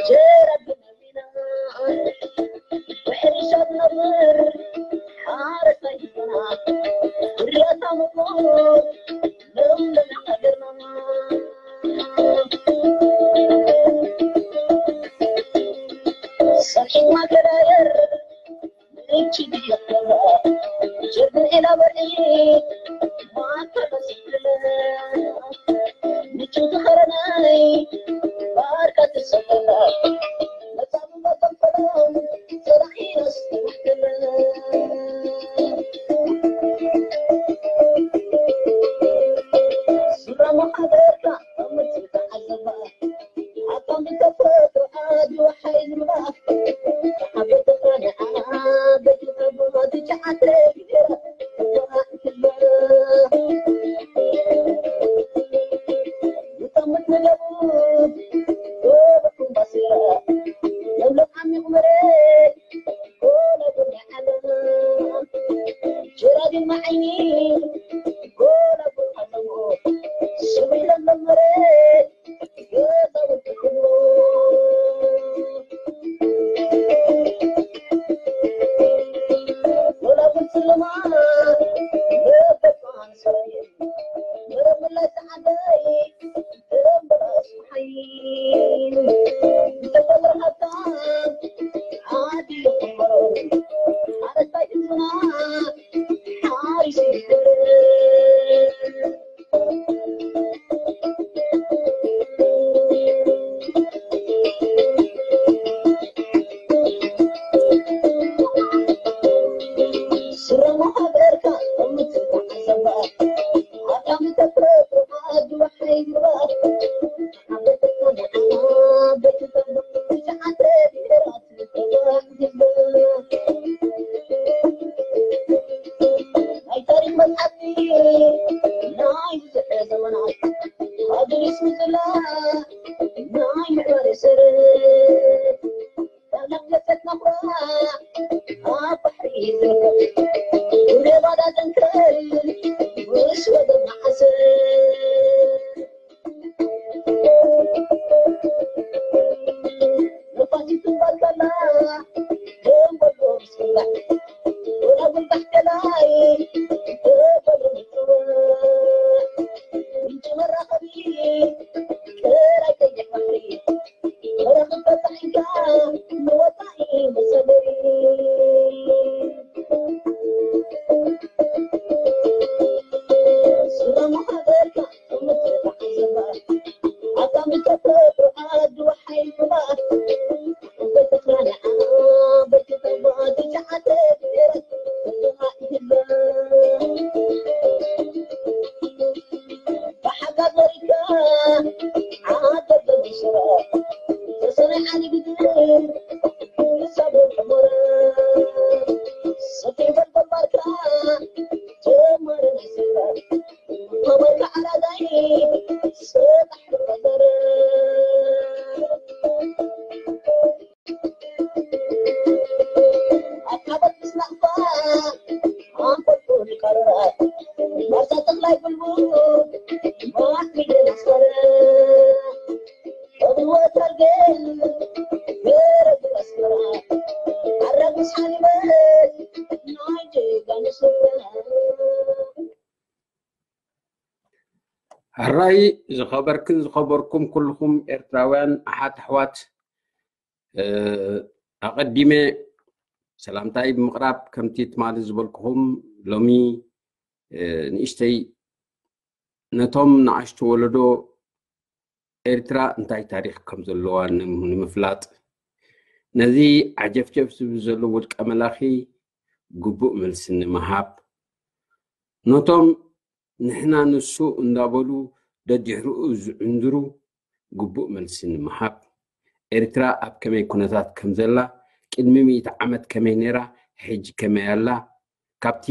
ጀረብ ነቢና ብሕርሻ ዝነብር ሓረስታይ ህዝብና፣ ፍርያታ ምርኮ ለምለም ሃገርና። ሰፊሕና ከዳየር ምቹ ድየኸባ ጀርብን ኤላ በርዒ ማከለ ስለ ምቹ ዝኸረናይ ባርካ ትሰለላ መጻሙ መጠንፈሎም ሰላኺ ነስተማሕከለ ስራ መሓበርካ ኣብ ምትዕዘባ ኣቶም ብተፈጥሮ ኣድዋ ሓይል ምራፍ ዓበይቲ ቃንዓ በቲ ጠቦ ትሽዓተ ግዜራ ሕራይ ዝኸበርክን ዝኸበርኩም ኩልኹም ኤርትራውያን ኣሓት ኣሕዋት፣ ኣቐዲመ ሰላምታይ ብምቕራብ፣ ከምቲ ትማሊ ዝበልኩኹም፣ ሎሚ ንእሽተይ ነቶም ንኣሽቱ ወለዶ ኤርትራ እንታይ ታሪኽ ከም ዘለዋ ንምፍላጥ፣ ነዚ ዓጀፍጀፍ ዝብል ዘሎ ውልቀ መላኺ ግቡእ መልሲ ንምሃብ፣ ነቶም ንሕና ንሱ እንዳበሉ ደድሕርኡ ዝዕንድሩ ግቡእ መልሲ ንምሃብ፣ ኤርትራ ኣብ ከመይ ኩነታት ከም ዘላ፣ ቅድሚ ሚእቲ ዓመት ከመይ ነይራ፣ ሕጂ ከመይ ኣላ፣ ካብቲ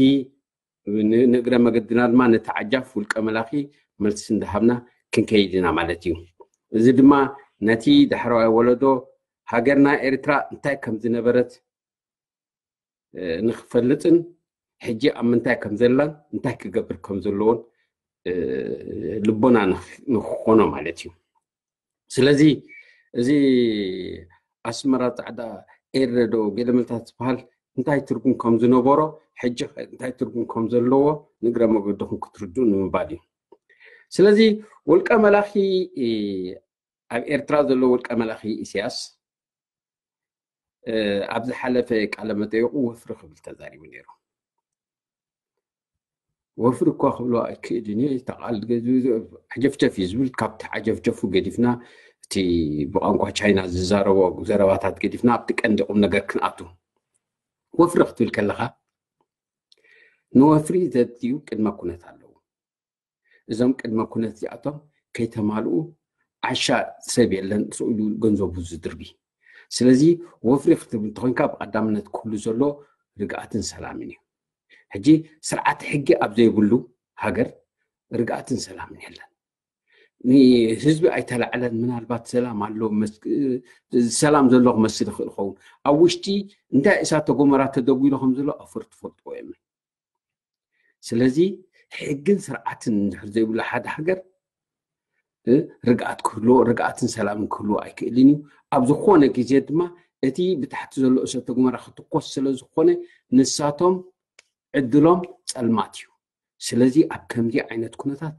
ንእግረ መገድና ድማ ነቲ ዓጃፍ ውልቀ መላኺ መልሲ እንዳሃብና ክንከይድ ኢና ማለት እዩ። እዚ ድማ ነቲ ዳሕረዋይ ወለዶ ሃገርና ኤርትራ እንታይ ከም ዝነበረት ንክፈልጥን ሕጂ ኣብ ምንታይ ከም ዘላን እንታይ ክገብር ከም ዘለዎን ልቦና ንክኾኖ ማለት እዩ። ስለዚ እዚ ኣስመራ ጻዕዳ ኤረ ዶ ገለመልታት ዝበሃል እንታይ ትርጉም ከም ዝነበሮ፣ ሕጂ እንታይ ትርጉም ከም ዘለዎ ንግረ መገድኹም ክትርድኡ ንምባል እዩ። ስለዚ ውልቀ መላኺ ኣብ ኤርትራ ዘሎ ውልቀ መላኺ ኢሳያስ ኣብ ዝሓለፈ ቃለ መጠይቁ ወፍሪ ክብል ተዛሪቡ ነይሩ። ወፍሪ እኳ ክብሎ ኣይክእልን እየ። ተቃል ዓጀፍጀፍ እዩ ዝብል። ካብቲ ዓጀፍጀፉ ገዲፍና፣ እቲ ብቋንቋ ቻይና ዝዛረቦ ዘረባታት ገዲፍና ኣብቲ ቀንዲ ቁም ነገር ክንኣቱ። ወፍሪ ክትብል ከለኻ ንወፍሪ ዘድልዩ ቅድመ ኩነት ኣለዉ። እዞም ቅድመ ኩነት እዚኣቶም ከይተማልኡ ዓሻ ሰብ የለን ስእሉ ገንዘቡ ዝድርቢ። ስለዚ ወፍሪ ክትብል እንተኮንካ ብቀዳምነት ክህሉ ዘሎ ርግኣትን ሰላምን እዩ። ሕጂ ስርዓት ሕጊ ኣብ ዘይብሉ ሃገር ርግኣትን ሰላምን የለን። ንህዝቢ ኣይተላዕለን። ምናልባት ሰላም ኣሎ፣ ሰላም ዘሎ ክመስል ይኽእል ይኸውን። ኣብ ውሽጢ እንታይ እሳተ ጎመራ ተደጒሎ ከም ዘሎ ኣፈር ትፈልጥዎ እዮም። ስለዚ ሕግን ስርዓትን እንድሕር ዘይብሉ ሓደ ሃገር ርግኣት ክህልዎ፣ ርግኣትን ሰላምን ክህልዎ ኣይክእልን እዩ። ኣብ ዝኾነ ግዜ ድማ እቲ ብታሕቲ ዘሎ እሳተ ጎመራ ክትኮስ ስለ ዝኾነ ንሳቶም ዕድሎም ጸልማት እዩ። ስለዚ ኣብ ከምዚ ዓይነት ኩነታት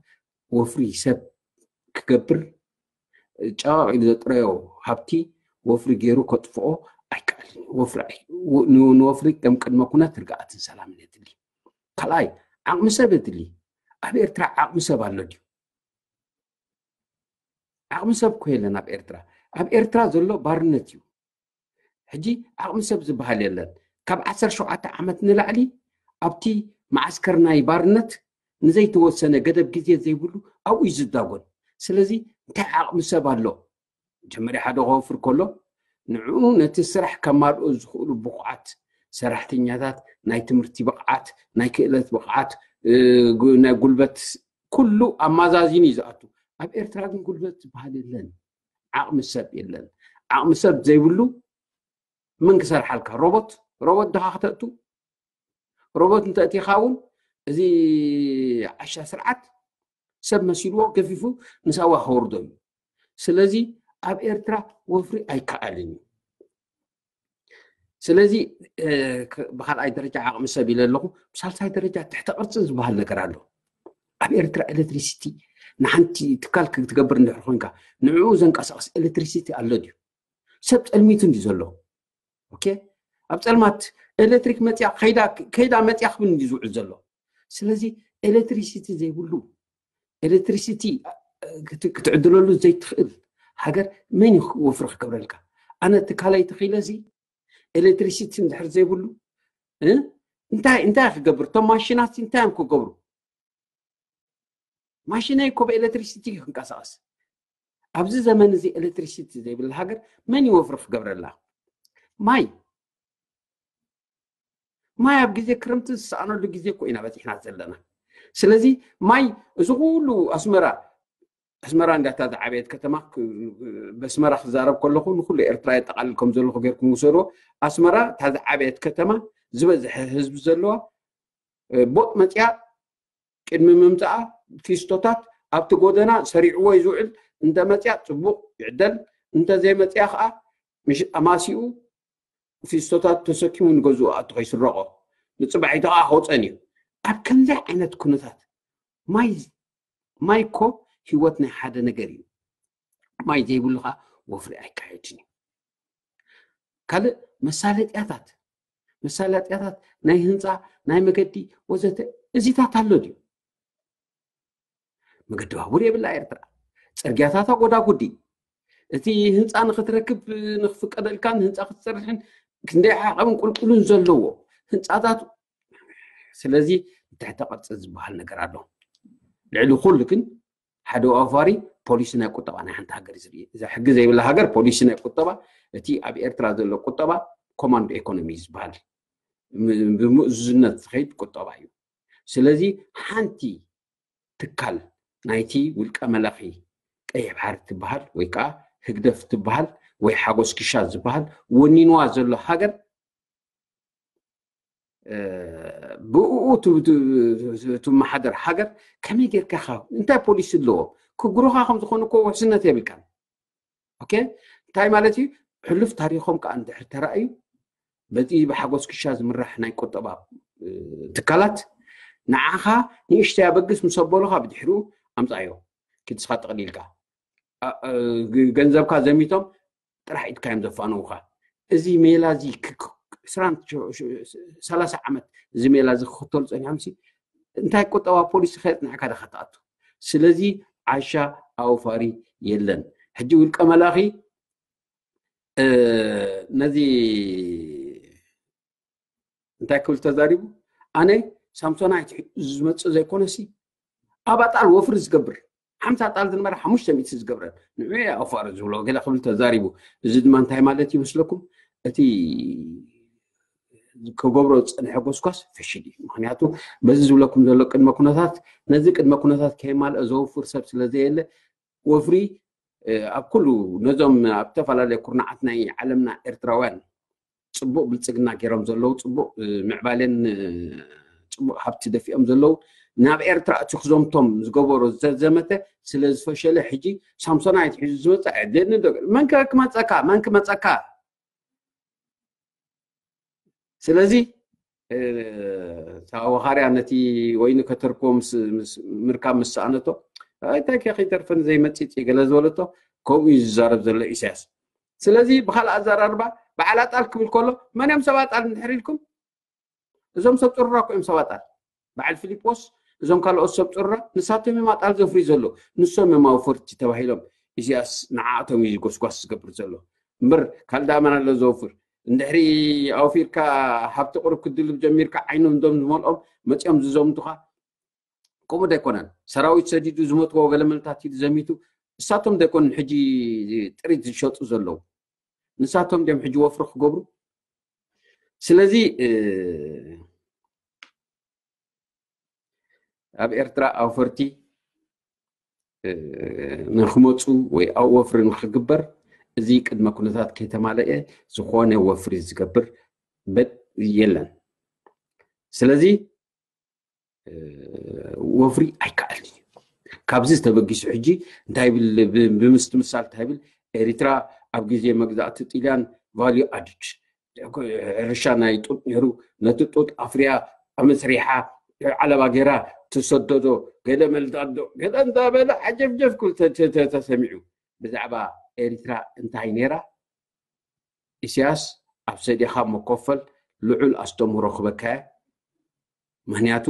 ወፍሪ ሰብ ክገብር ጨቕ ኢሉ ዘጥረዮ ሃብቲ ወፍሪ ገይሩ ከጥፍኦ ኣይከኣልን። ንወፍሪ ከም ቅድመ ኩነት ርግኣትን ሰላምን የድሊ። ካልኣይ ዓቕሚ ሰብ የድሊ። ኣብ ኤርትራ ዓቕሚ ሰብ ኣሎ ድዩ? ዓቕሚ ሰብ እኮ የለን ኣብ ኤርትራ። ኣብ ኤርትራ ዘሎ ባርነት እዩ። ሕጂ ዓቕሚ ሰብ ዝበሃል የለን። ካብ ዓሰርተ ሸውዓተ ዓመት ንላዕሊ ኣብቲ መዓስከር ናይ ባርነት ንዘይተወሰነ ገደብ ግዜ ዘይብሉ ኣብኡ እዩ ዝዳጎን። ስለዚ እንታይ ዓቕሚ ሰብ ኣሎ? መጀመርያ ሓደ ክወፍር ከሎ ንዕኡ ነቲ ስራሕ ከማልኦ ዝኽእሉ ብቑዓት ሰራሕተኛታት፣ ናይ ትምህርቲ ብቕዓት፣ ናይ ክእለት ብቕዓት፣ ናይ ጉልበት ኩሉ ኣማዛዚኑ እዩ ዝኣቱ። ኣብ ኤርትራ ግን ጉልበት ዝበሃል የለን፣ ዓቕሚ ሰብ የለን። ዓቕሚ ሰብ ዘይብሉ መን ክሰርሓልካ? ሮቦት ሮቦት ድኻ ክተእቱ? ሮቦት እንተእቲኻ እውን እዚ ዓሻ ስርዓት ሰብ መሲልዎ ገፊፉ ንሳዋ ከወርዶ እዩ። ስለዚ ኣብ ኤርትራ ወፍሪ ኣይከኣልን እዩ። ስለዚ ብካልኣይ ደረጃ ዓቕሚ ሰብ ኢለ ኣለኹ። ብሳልሳይ ደረጃ ትሕተ ቅርፂ ዝበሃል ነገር ኣሎ። ኣብ ኤርትራ ኤሌክትሪሲቲ ንሓንቲ ትካል ክትገብር እንድሕር ኮንካ ንዕኡ ዘንቀሳቕስ ኤሌክትሪሲቲ ኣሎ ድዩ? ሰብ ጸልሚቱ እንዲ ዘሎ ኦኬ፣ ኣብ ጸልማት ኤሌክትሪክ መጽያ ከይዳ ከይዳ መጽያ ክብል እንዲ ዝውዕል ዘሎ። ስለዚ ኤሌክትሪሲቲ ዘይብሉ ኤሌክትሪሲቲ ክትዕድለሉ ዘይትኽእል ሃገር መን እዩ ወፍሪ ክገብረልካ? ኣነ ትካለይ ተኺለ እዚ ኤሌክትሪሲቲ እንድሕር ዘይብሉ እንታይ እንታይ ክገብር? እቶም ማሽናት እንታይ እዮም ክገብሩ? ማሽነይ እኮ ብኤሌክትሪሲቲ እዩ ክንቀሳቐስ። ኣብዚ ዘመን እዚ ኤሌክትሪሲቲ ዘይብላ ሃገር መን ይወፍሪ ክገብረላ? ማይ ማይ ኣብ ግዜ ክረምቲ ዝሰኣነሉ ግዜ እኮ ኢና በፂሕና ዘለና። ስለዚ ማይ እዚ ኩሉ ኣስመራ ኣስመራ እንዳታ ዝዓበየት ከተማ በስመራ ክዛረብ ከለኹ ንኩሉ ኤርትራ የጠቃልል ከም ዘለኹ ጌርኩም ውሰድዎ። ኣስመራ እታ ዝዓበየት ከተማ ዝበዝሐ ህዝቢ ዘለዋ ቦጥ መፅያ ቅድሚ ምምፅኣ ፊስቶታት ኣብቲ ጎደና ሰሪዕዎ እዩ ዝውዕል። እንተ መፅያ ፅቡቕ ይዕደል፣ እንተ ዘይመፅያ ከዓ ኣማሲኡ ፊስቶታት ተሰኪሙ ንገዝኡ ኣቱ ከይስረቆ ንፅባሒቱ ከዓ ከውፀን እዩ። ኣብ ከምዚ ዓይነት ኩነታት ማይ ማይ እኮ ህይወት ናይ ሓደ ነገር እዩ። ማይ ዘይብሉ ከዓ ወፍሪ ኣይካየድን እዩ። ካልእ መሳለጥያታት መሳለጥያታት ናይ ህንፃ ናይ መገዲ ወዘተ እዚታት ኣሎ ድዩ? መገዲ ባቡር የብላ ኤርትራ። ፅርግያታታ ጎዳጉዲ። እቲ ህንፃ ንክትረክብ ንክፍቀደልካን ህንፃ ክትሰርሕን ክንደይ ዓቐብን ቁልቁልን ዘለዎ ህንፃታት። ስለዚ ትሕተ ቅርፂ ዝበሃል ነገር ኣሎ። ልዕሊ ኩሉ ግን ሓደ ኣውፋሪ ፖሊሲ ናይ ቁጠባ ናይ ሓንቲ ሃገር እዩ ዝርኢ። እዛ ሕጊ ዘይብላ ሃገር ፖሊሲ ናይ ቁጠባ እቲ ኣብ ኤርትራ ዘሎ ቁጠባ ኮማንዶ ኤኮኖሚ ዝበሃል ብምእዙዝነት ዝኸይድ ቁጠባ እዩ። ስለዚ ሓንቲ ትካል ናይቲ ውልቀ መላኺ ቀይሕ ባሕሪ ትበሃል ወይ ከዓ ህግደፍ ትበሃል ወይ ሓጎስ ክሻ ዝበሃል ወኒንዋ ዘሎ ሃገር ብእኡ ትመሓደር ሃገር ከመይ ጌርካ ኢኻ እንታይ ፖሊሲ ኣለዎ? ክግሩኻ ከም ዝኾኑ እኮ ውሕስነት የብልካን። ኦኬ እንታይ ማለት እዩ? ሕሉፍ ታሪኾም ከዓ እንድሕር ተራእዩ በዚ ብሓጎስ ክሻ ዝምራሕ ናይ ቁጠባ ትካላት ንዓኻ ንእሽተይ ኣበግስ ምስ ኣበሉኻ ብድሕሪኡ ኣምፃዮ ክድስኻ ጠቕሊልካ ገንዘብካ ዘሚቶም ጥራሕ ኢድካ እዮም ዘፋነውካ። እዚ ሜላ እዚ ሰላሳ ዓመት እዚ ሜላ እዚ ክኽተሉ ፀኒሖም ሲ እንታይ ቁጠባ ፖሊሲ ከየፅናዕካ ዳካ ትኣቱ? ስለዚ ዓሻ ኣውፋሪ የለን። ሕጂ ውልቀ መላኺ ነዚ እንታይ ክብል ተዛሪቡ? ኣነ ሳምሶናይት ዝመፅእ ዘይኮነሲ ኣብ ኣጣል ወፍሪ ዝገብር ሓምሳ ኣጣል ዝነበረ ሓሙሽተ ሚእቲ ዝገብረን ንዑ ኣፋር ዝብሎ ገለ ክብል ተዛሪቡ። እዚ ድማ እንታይ ማለት ይመስለኩም? እቲ ክገብሮ ዝፀንሐ ጎስጓስ ፍሽል እዩ። ምክንያቱ በዚ ዝብለኩም ዘሎ ቅድመ ኩነታት ነዚ ቅድመ ኩነታት ከየማልአ ዘውፍር ሰብ ስለዘየለ ወፍሪ ኣብ ኩሉ ነዞም ኣብ ዝተፈላለዩ ኩርናዓት ናይ ዓለምና ኤርትራውያን ፅቡቅ ብልፅግና ገይሮም ዘለዉ ፅቡቅ ምዕባሌን ፅቡቅ ሃብቲ ደፊኦም ዘለዉ ናብ ኤርትራ እቲ ክዘምቶም ዝገበሮ ዘዘመተ ስለ ዝፈሸለ ሕጂ ሳምሶናይት ሒዙ ዝመፅእ ኣየድልየኒ ዶ መን ክመፀካ መን ክመፀካ ስለዚ ሳወኻርያ ነቲ ወይኒ ከተርክቦ ምርካብ ምስ ሰኣነቶ እንታይ ከ ከይተርፈን ዘይመፅፅ ገለ ዝበለቶ ከምኡ እዩ ዝዛረብ ዘሎ ኢሳያስ ስለዚ ብካልእ ኣዘራርባ በዓል ኣጣል ክብል ከሎ መን እዮም ሰብ ኣጣል እንድሕር ኢልኩም እዞም ሰብ ፅሩራ እኮ እዮም ሰብ ኣጣል በዓል ፊሊጶስ እዞም ካልኦት ሰብ ፅሩራ ንሳቶም እዮም ኣጣል ዘፍርዩ ዘሎ ንሶም እዮም ኣውፈርቲ ተባሂሎም ኢሳያስ ንዓኣቶም እዩ ጎስጓስ ዝገብር ዘሎ እምበር ካልእ ዳኣ መን ኣሎ ዘውፍር እንድሕሪ ኣውፊርካ ሃብቲ ቁሩብ ክድልብ ጀሚርካ ዓይኖም ዶም ዝመልኦም መፂኦም ዝዘምቱኻ ከምኡ ዶ ኣይኮነን ሰራዊት ሰዲዱ ዝመትዎ ገለመልታት ኢሉ ዘሚቱ እሳቶም ዶ ኣይኮኑን ሕጂ ጥሪት ዝሸጡ ዘለዉ ንሳቶም ድዮም ሕጂ ወፍሪ ክገብሩ ስለዚ ኣብ ኤርትራ ኣውፈርቲ ንክመፁ ወይ ኣብ ወፍሪ ንክግበር እዚ ቅድመ ኩነታት ከይተማለአ ዝኾነ ወፍሪ ዝገብር የለን ስለዚ ወፍሪ ኣይከኣልን እዩ ካብዚ ዝተበጊሱ ሕጂ እንታይ ብል ብምስትምሳል እንታይ ብል ኤሪትራ ኣብ ግዜ መግዛእቲ ጥልያን value added ሕርሻ ናይ ጡጥ ነይሩ ነቲ ጡጥ ኣፍርያ ኣመስሪሓ ዓለባ ገይራ ትሰደዶ ገለ መልዳዶ ገለ እንዳበለ ዓጀፍጀፍ ክብል ተሰሚዑ ብዛዕባ ኤሪትራ እንታይ ነይራ ኢሳያስ ኣብ ሰዲኻ መኮፈል ልዑል ኣስተምህሮ ክበካያ ምክንያቱ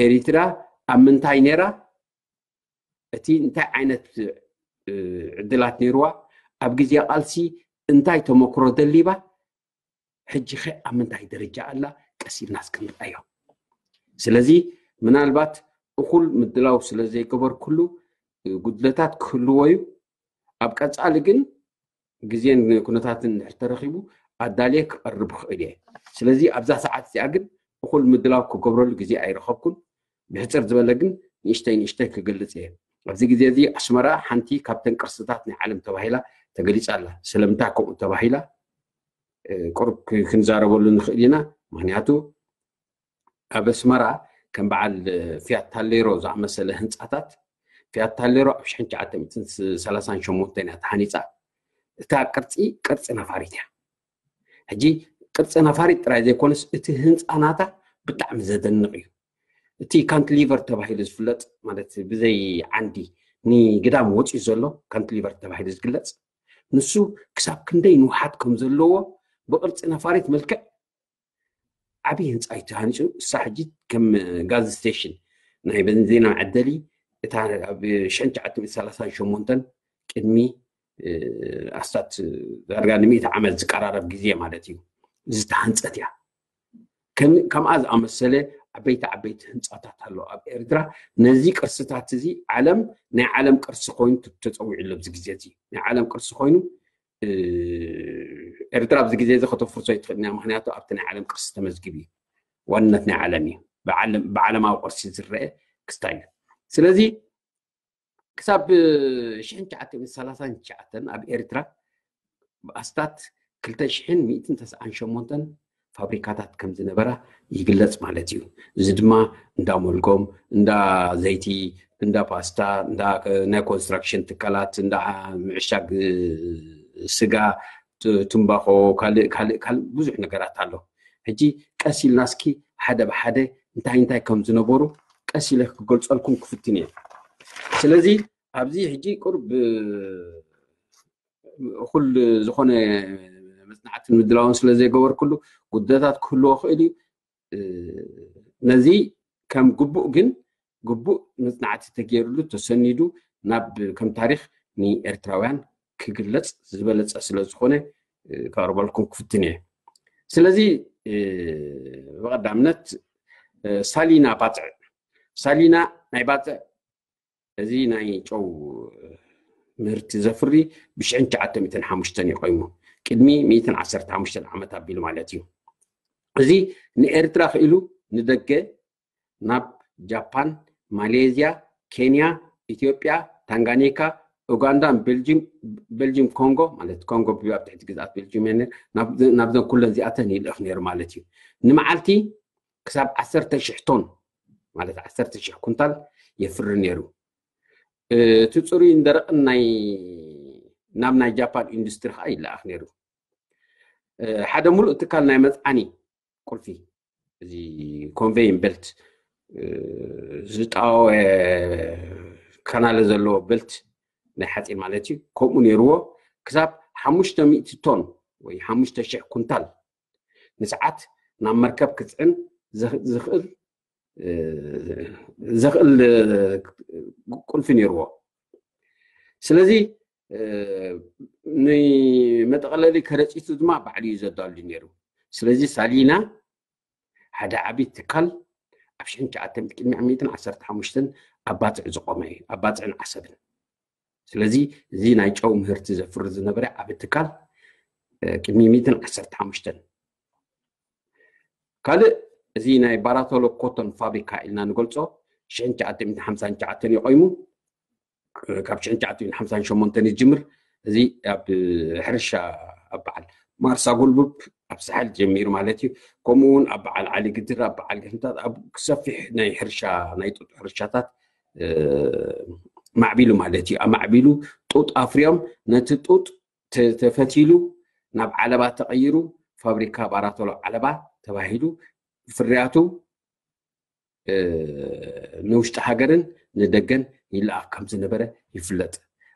ኤሪትራ ኣብ ምንታይ ነይራ እቲ እንታይ ዓይነት ዕድላት ነይርዋ ኣብ ግዜ ቃልሲ እንታይ ተመክሮ ደሊባ ሕጂ ኸ ኣብ ምንታይ ደረጃ ኣላ ቀስ ኢልና እስክንርኣዮ ስለዚ ምናልባት እኹል ምድላው ስለ ዘይገበርኩሉ ጉድለታት ክህልዎ እዩ ኣብ ቀፃሊ ግን ግዜን ኩነታትን እንድሕር ተረኺቡ ኣዳልየ ክቐርብ ይኽእል እየ ስለዚ ኣብዛ ሰዓት እዚኣ ግን እኹል ምድላው ክገብረሉ ግዜ ኣይረኸብኩን ብሕፅር ዝበለ ግን ንእሽተይ ንእሽተይ ክገልፅ እየ ኣብዚ ግዜ እዚ ኣስመራ ሓንቲ ካብተን ቅርስታት ናይ ዓለም ተባሂላ ተገሊፃ ኣላ ስለምንታይ ከምኡ ተባሂላ ቁሩብ ክንዛረበሉ ንኽእል ኢና ምክንያቱ ኣብ ኣስመራ ከም በዓል ፊያት ታሌሮ ዝኣመሰለ ህንፃታት ፊያት ታሌሮ ኣብ ሽሕን ትሽዓተ ሚእትን ሰላሳን ሸሞንተን እያ ተሃኒፃ እታ ቅርፂ ቅርፂ ነፋሪት እያ ሕጂ ቅርፂ ነፋሪት ጥራይ ዘይኮነስ እቲ ህንፃ ናታ ብጣዕሚ ዘደንቕ እዩ እቲ ካንትሊቨር ተባሂሉ ዝፍለጥ ማለት ብዘይ ዓንዲ ንግዳም ወፂኡ ዘሎ ካንትሊቨር ተባሂሉ ዝግለፅ ንሱ ክሳብ ክንደይ ንውሓት ከም ዘለዎ ብቅርፂ ነፋሪት መልክዕ ዓብዪ ህንፃ እዩ ተሃኒፁ እሳ ሕጂ ከም ጋዝ ስቴሽን ናይ በንዚና መዐደሊ እታ ኣብ ሽሕን ትሽዓተ ሚእትን ሰላሳን ሸሞንተን ቅድሚ ኣስታት ዳርጋ ንምእቲ ዓመት ዝቀራረብ ግዜ ማለት እዩ ዝተሃንፀት እያ ከምኣ ዝኣመሰለ ዓበይቲ ዓበይቲ ህንፃታት ኣሎ ኣብ ኤርትራ ነዚ ቅርስታት እዚ ዓለም ናይ ዓለም ቅርሲ ኮይኑ ተፀዊዑ ኣሎ ኣብዚ ግዜ እዚ ናይ ዓለም ቅርሲ ኮይኑ ኤርትራ ኣብዚ ግዜ እዚ ከተፍርሶ ይትኽእል ኢና ምክንያቱ ኣብቲ ናይ ዓለም ቅርሲ ተመዝጊቡ እዩ ዋንነት ናይ ዓለም እዩ ብዓለማዊ ቅርሲ ዝረአ ክስታይ እዩ ስለዚ ክሳብ ሽሕን ትሽዓተ ሚእትን ሰላሳን ትሽዓተን ኣብ ኤርትራ ኣስታት ክልተ ሽሕን ሚእትን ተስዓን ሸሞንተን ፋብሪካታት ከም ዝነበራ ይግለጽ ማለት እዩ። እዚ ድማ እንዳ ሞልጎም፣ እንዳ ዘይቲ፣ እንዳ ፓስታ፣ እንዳ ናይ ኮንስትራክሽን ትካላት፣ እንዳ ምዕሻግ ስጋ፣ ትንባኾ፣ ካልእ ካልእ ካልእ ብዙሕ ነገራት ኣሎ። ሕጂ ቀስ ኢልና እስኪ ሓደ ብሓደ እንታይ እንታይ ከም ዝነበሩ ቀስ ኢለ ክገልፀልኩም ክፍትን እየ። ስለዚ ኣብዚ ሕጂ ቁርብ እኹል ዝኾነ መፅናዕትን ምድላውን ስለ ዘይገበርኩሉ ጉድለታት ክህልዎ ክእል እዩ። ነዚ ከም ግቡእ ግን ግቡእ መፅናዕቲ ተገይርሉ ተሰኒዱ ናብ ከም ታሪክ ንኤርትራውያን ክግለፅ ዝበለፀ ስለ ዝኾነ ከቕርበልኩም ክፍትን እየ። ስለዚ ብቐዳምነት ሳሊና ባፅዕ፣ ሳሊና ናይ ባፅዕ እዚ ናይ ጨው ምህርቲ ዘፍሪ ብሽሕን ትሽዓተ ሚእትን ሓሙሽተን እዩ ቆይሙ፣ ቅድሚ ሚእትን ዓሰርተ ሓሙሽተን ዓመት ኣቢሉ ማለት እዩ። እዚ ንኤርትራ ክኢሉ ንደገ ናብ ጃፓን፣ ማሌዝያ፣ ኬንያ፣ ኢትዮጵያ፣ ታንጋኒካ፣ ኡጋንዳ፣ ቤልጂም፣ ቤልጂም ኮንጎ ማለት ኮንጎ ኣብ ትሕቲ ግዝኣት ቤልጂም እየ፣ ናብዘን ኩለን እዚኣተን ይልእኽ ነይሩ ማለት እዩ። ንመዓልቲ ክሳብ ዓሰርተ ሽሕ ቶን ማለት ዓሰርተ ሽሕ ኩንታል የፍሪ ነይሩ። እቲ ፅሩይን ደረቕን ናይ ናብ ናይ ጃፓን ኢንዱስትሪ ከዓ ይለኣኽ ነይሩ። ሓደ ሙሉእ ትካል ናይ መፅዓኒ ቁልፊ፣ እዚ ኮንቬይን ቤልት፣ ዝጣወ ካናለ ዘለዎ ቤልት ናይ ሓፂን ማለት እዩ። ከምኡ ነይርዎ። ክሳብ ሓሙሽተ ሚእቲ ቶን ወይ ሓሙሽተ ሽሕ ኩንታል ንሰዓት ናብ መርከብ ክፅዕን ዝኽእል ዘኽእል ቁልፊ ነይርዎ። ስለዚ ንመጠቐለሊ ከረፂቱ ድማ ባዕሉ እዩ ዘዳሉ ነይሩ። ስለዚ ሳሊና ሓደ ዓብዪ ትካል ኣብ ሽሕን ትሽዓተ ሚእትን ቅድሚ ሚእትን ዓሰርተ ሓሙሽተን ኣብ ባፅዕ ዝቆመ እዩ፣ ኣብ ባፅዕን ዓሰብን። ስለዚ እዚ ናይ ጨው ምህርቲ ዘፍሪ ዝነበረ ዓብዪ ትካል ቅድሚ ሚእትን ዓሰርተ ሓሙሽተን። ካልእ እዚ ናይ ባራቶሎ ኮቶን ፋብሪካ ኢልና ንገልፆ ሽሕን ትሽዓተ ሚእትን ሓምሳን ትሽዓተን እዩ ቆይሙ። ካብ ሽሕን ትሽዓተ ሚእትን ሓምሳን ሸሞንተን ይጅምር። እዚ ኣብ ሕርሻ ኣብ በዓል ማርሳ ጉልቡብ ኣብ ሳሕል ጀሚሩ ማለት እዩ። ከምኡ እውን ኣብ በዓል ዓሊ ግድር፣ ኣብ በዓል ገሕምታት፣ ኣብ ሰፊሕ ናይ ሕርሻ ናይ ጡጥ ሕርሻታት ማዕቢሉ ማለት እዩ። ኣማዕቢሉ ጡጥ ኣፍርዮም ነቲ ጡጥ ተፈቲሉ ናብ ዓለባ ተቐይሩ ፋብሪካ ባራቶሎ ዓለባ ተባሂሉ ፍርያቱ ንውሽጢ ሃገርን ንደገን ይለኣኽ ከም ዝነበረ ይፍለጥ።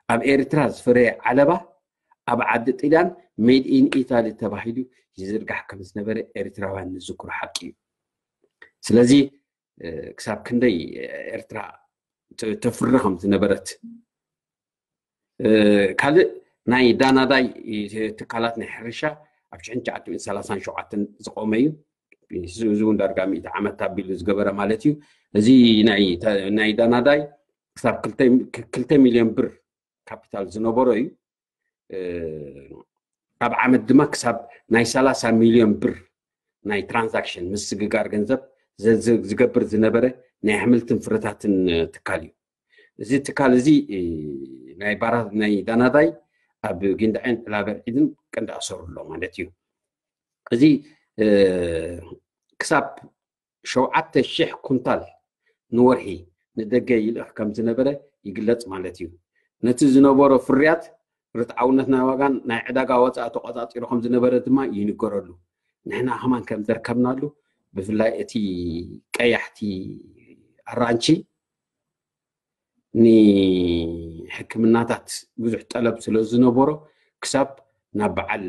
ኣብ ኤርትራ ዝፈረየ ዓለባ ኣብ ዓዲ ጥልያን ሜድ ኢን ኢታሊ ተባሂሉ ይዝርጋሕ ከም ዝነበረ ኤርትራውያን ንዝክሮ ሓቂ እዩ። ስለዚ ክሳብ ክንደይ ኤርትራ ተፍሪ ከም ዝነበረት። ካልእ ናይ ዳናዳይ ትካላት ናይ ሕርሻ ኣብ ሽሕን ትሽዓተ ሚእትን ሰላሳን ሸውዓተን ዝቆመ እዩ። እዚ እውን ዳርጋ ሚእቲ ዓመት ኣቢሉ ዝገበረ ማለት እዩ። እዚ ናይ ዳናዳይ ክሳብ ክልተ ሚልዮን ብር ካፒታል ዝነበሮ እዩ። ኣብ ዓመት ድማ ክሳብ ናይ ሰላሳ ሚልዮን ብር ናይ ትራንዛክሽን ምስግጋር ገንዘብ ዝገብር ዝነበረ ናይ ኣሕምልትን ፍረታትን ትካል እዩ። እዚ ትካል እዚ ናይ ባራ ናይ ዳናዳይ ኣብ ጊንዳዕን ዕላበርዒድን ቀንዲ ኣሰሩ ኣሎ ማለት እዩ። እዚ ክሳብ ሸውዓተ ሽሕ ኩንታል ንወርሒ ንደገ ይልእኽ ከም ዝነበረ ይግለጽ ማለት እዩ። ነቲ ዝነበሮ ፍርያት ርትዓውነት ናይ ዋጋን ናይ ዕዳጋ ወፃኢ ተቆፃፂሩ ከም ዝነበረ ድማ ይንገረሉ። ንሕና ከማን ከም ዘርከብናሉ ብፍላይ እቲ ቀያሕቲ ኣራንቺ ንሕክምናታት ብዙሕ ጠለብ ስለ ዝነበሮ ክሳብ ናብ በዓል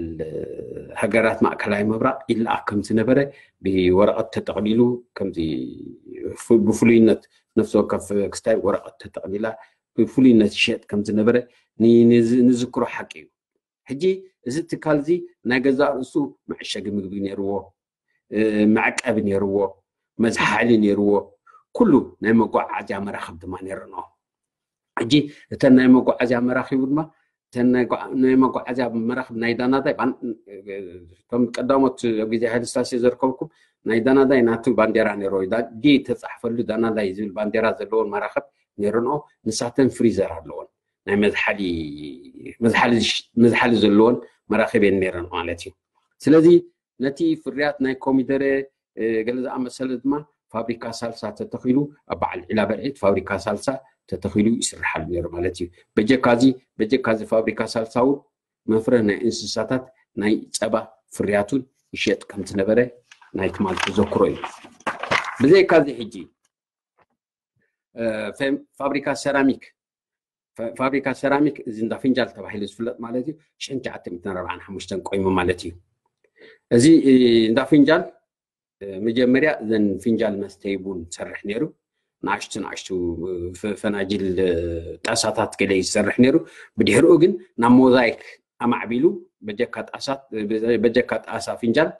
ሃገራት ማእከላይ ምብራቕ ይለኣኽ ከም ዝነበረ ብወረቐት ተጠቕሊሉ ከምዚ ብፍሉይነት ነፍሲ ወከፍ ክስታይ ወረቐት ተጠቕሊላ ብፍሉይነት ይሸጥ ከም ዝነበረ ንዝክሮ ሓቂ እዩ። ሕጂ እዚ ትካል እዚ ናይ ገዛእ ርእሱ መዐሸጊ ምግቢ ነይርዎ፣ መዕቀቢ ነይርዎ፣ መዝሓሊ ነይርዎ፣ ኩሉ ናይ መጓዓዓዝያ መራኽብ ድማ ነይርንኦ። ሕጂ እተን ናይ መጓዓዝያ መራኺቡ ድማ እተን ናይ መጓዓዝያ መራኽብ ናይ ዳናዳይ እቶም ቀዳሞት ኣብ ግዜ ሃይለ ስላሴ ዘርከብኩም ናይ ዳናዳይ ናቱ ባንዴራ ነይርዎ። ዲ ተፃሕፈሉ ዳናዳይ ዝብል ባንዴራ ዘለዎን መራኽብ ነይርንኦ። ንሳተን ፍሪዘር ኣለዎን ናይ መዝሓሊ ዘለዎን መራኽብ እየን ነይረን ማለት እዩ። ስለዚ ነቲ ፍርያት ናይ ኮሚደረ ገለ ዝኣመሰለ ድማ ፋብሪካ ሳልሳ ተተኺሉ ኣብ በዓል ዒላ በርዒት ፋብሪካ ሳልሳ ተተኺሉ ይስርሓሉ ነይሩ ማለት እዩ። በጀካዚ በጀካዚ ፋብሪካ ሳልሳ እውን መፍረ ናይ እንስሳታት ናይ ፀባ ፍርያቱን ይሸጥ ከም ዝነበረ ናይ ትማል ተዘክሮ እዩ። ብዘይካዚ ሕጂ ፋብሪካ ሰራሚክ ፋብሪካ ሰራሚክ እዚ እንዳ ፍንጃል ተባሂሉ ዝፍለጥ ማለት እዩ። ሽሕን ትሽዓተ ሚእትን ኣርባዓን ሓሙሽተን ቆይሙ ማለት እዩ። እዚ እንዳ ፍንጃል መጀመርያ እዘን ፍንጃል መስተይ ቡን ዝሰርሕ ነይሩ። ንኣሽቱ ንኣሽቱ ፈናጅል ጣሳታት ገለ ይሰርሕ ነይሩ። ብድሕሪኡ ግን ናብ ሞዛይክ ኣማዕቢሉ በጀካ ጣሳ ፍንጃል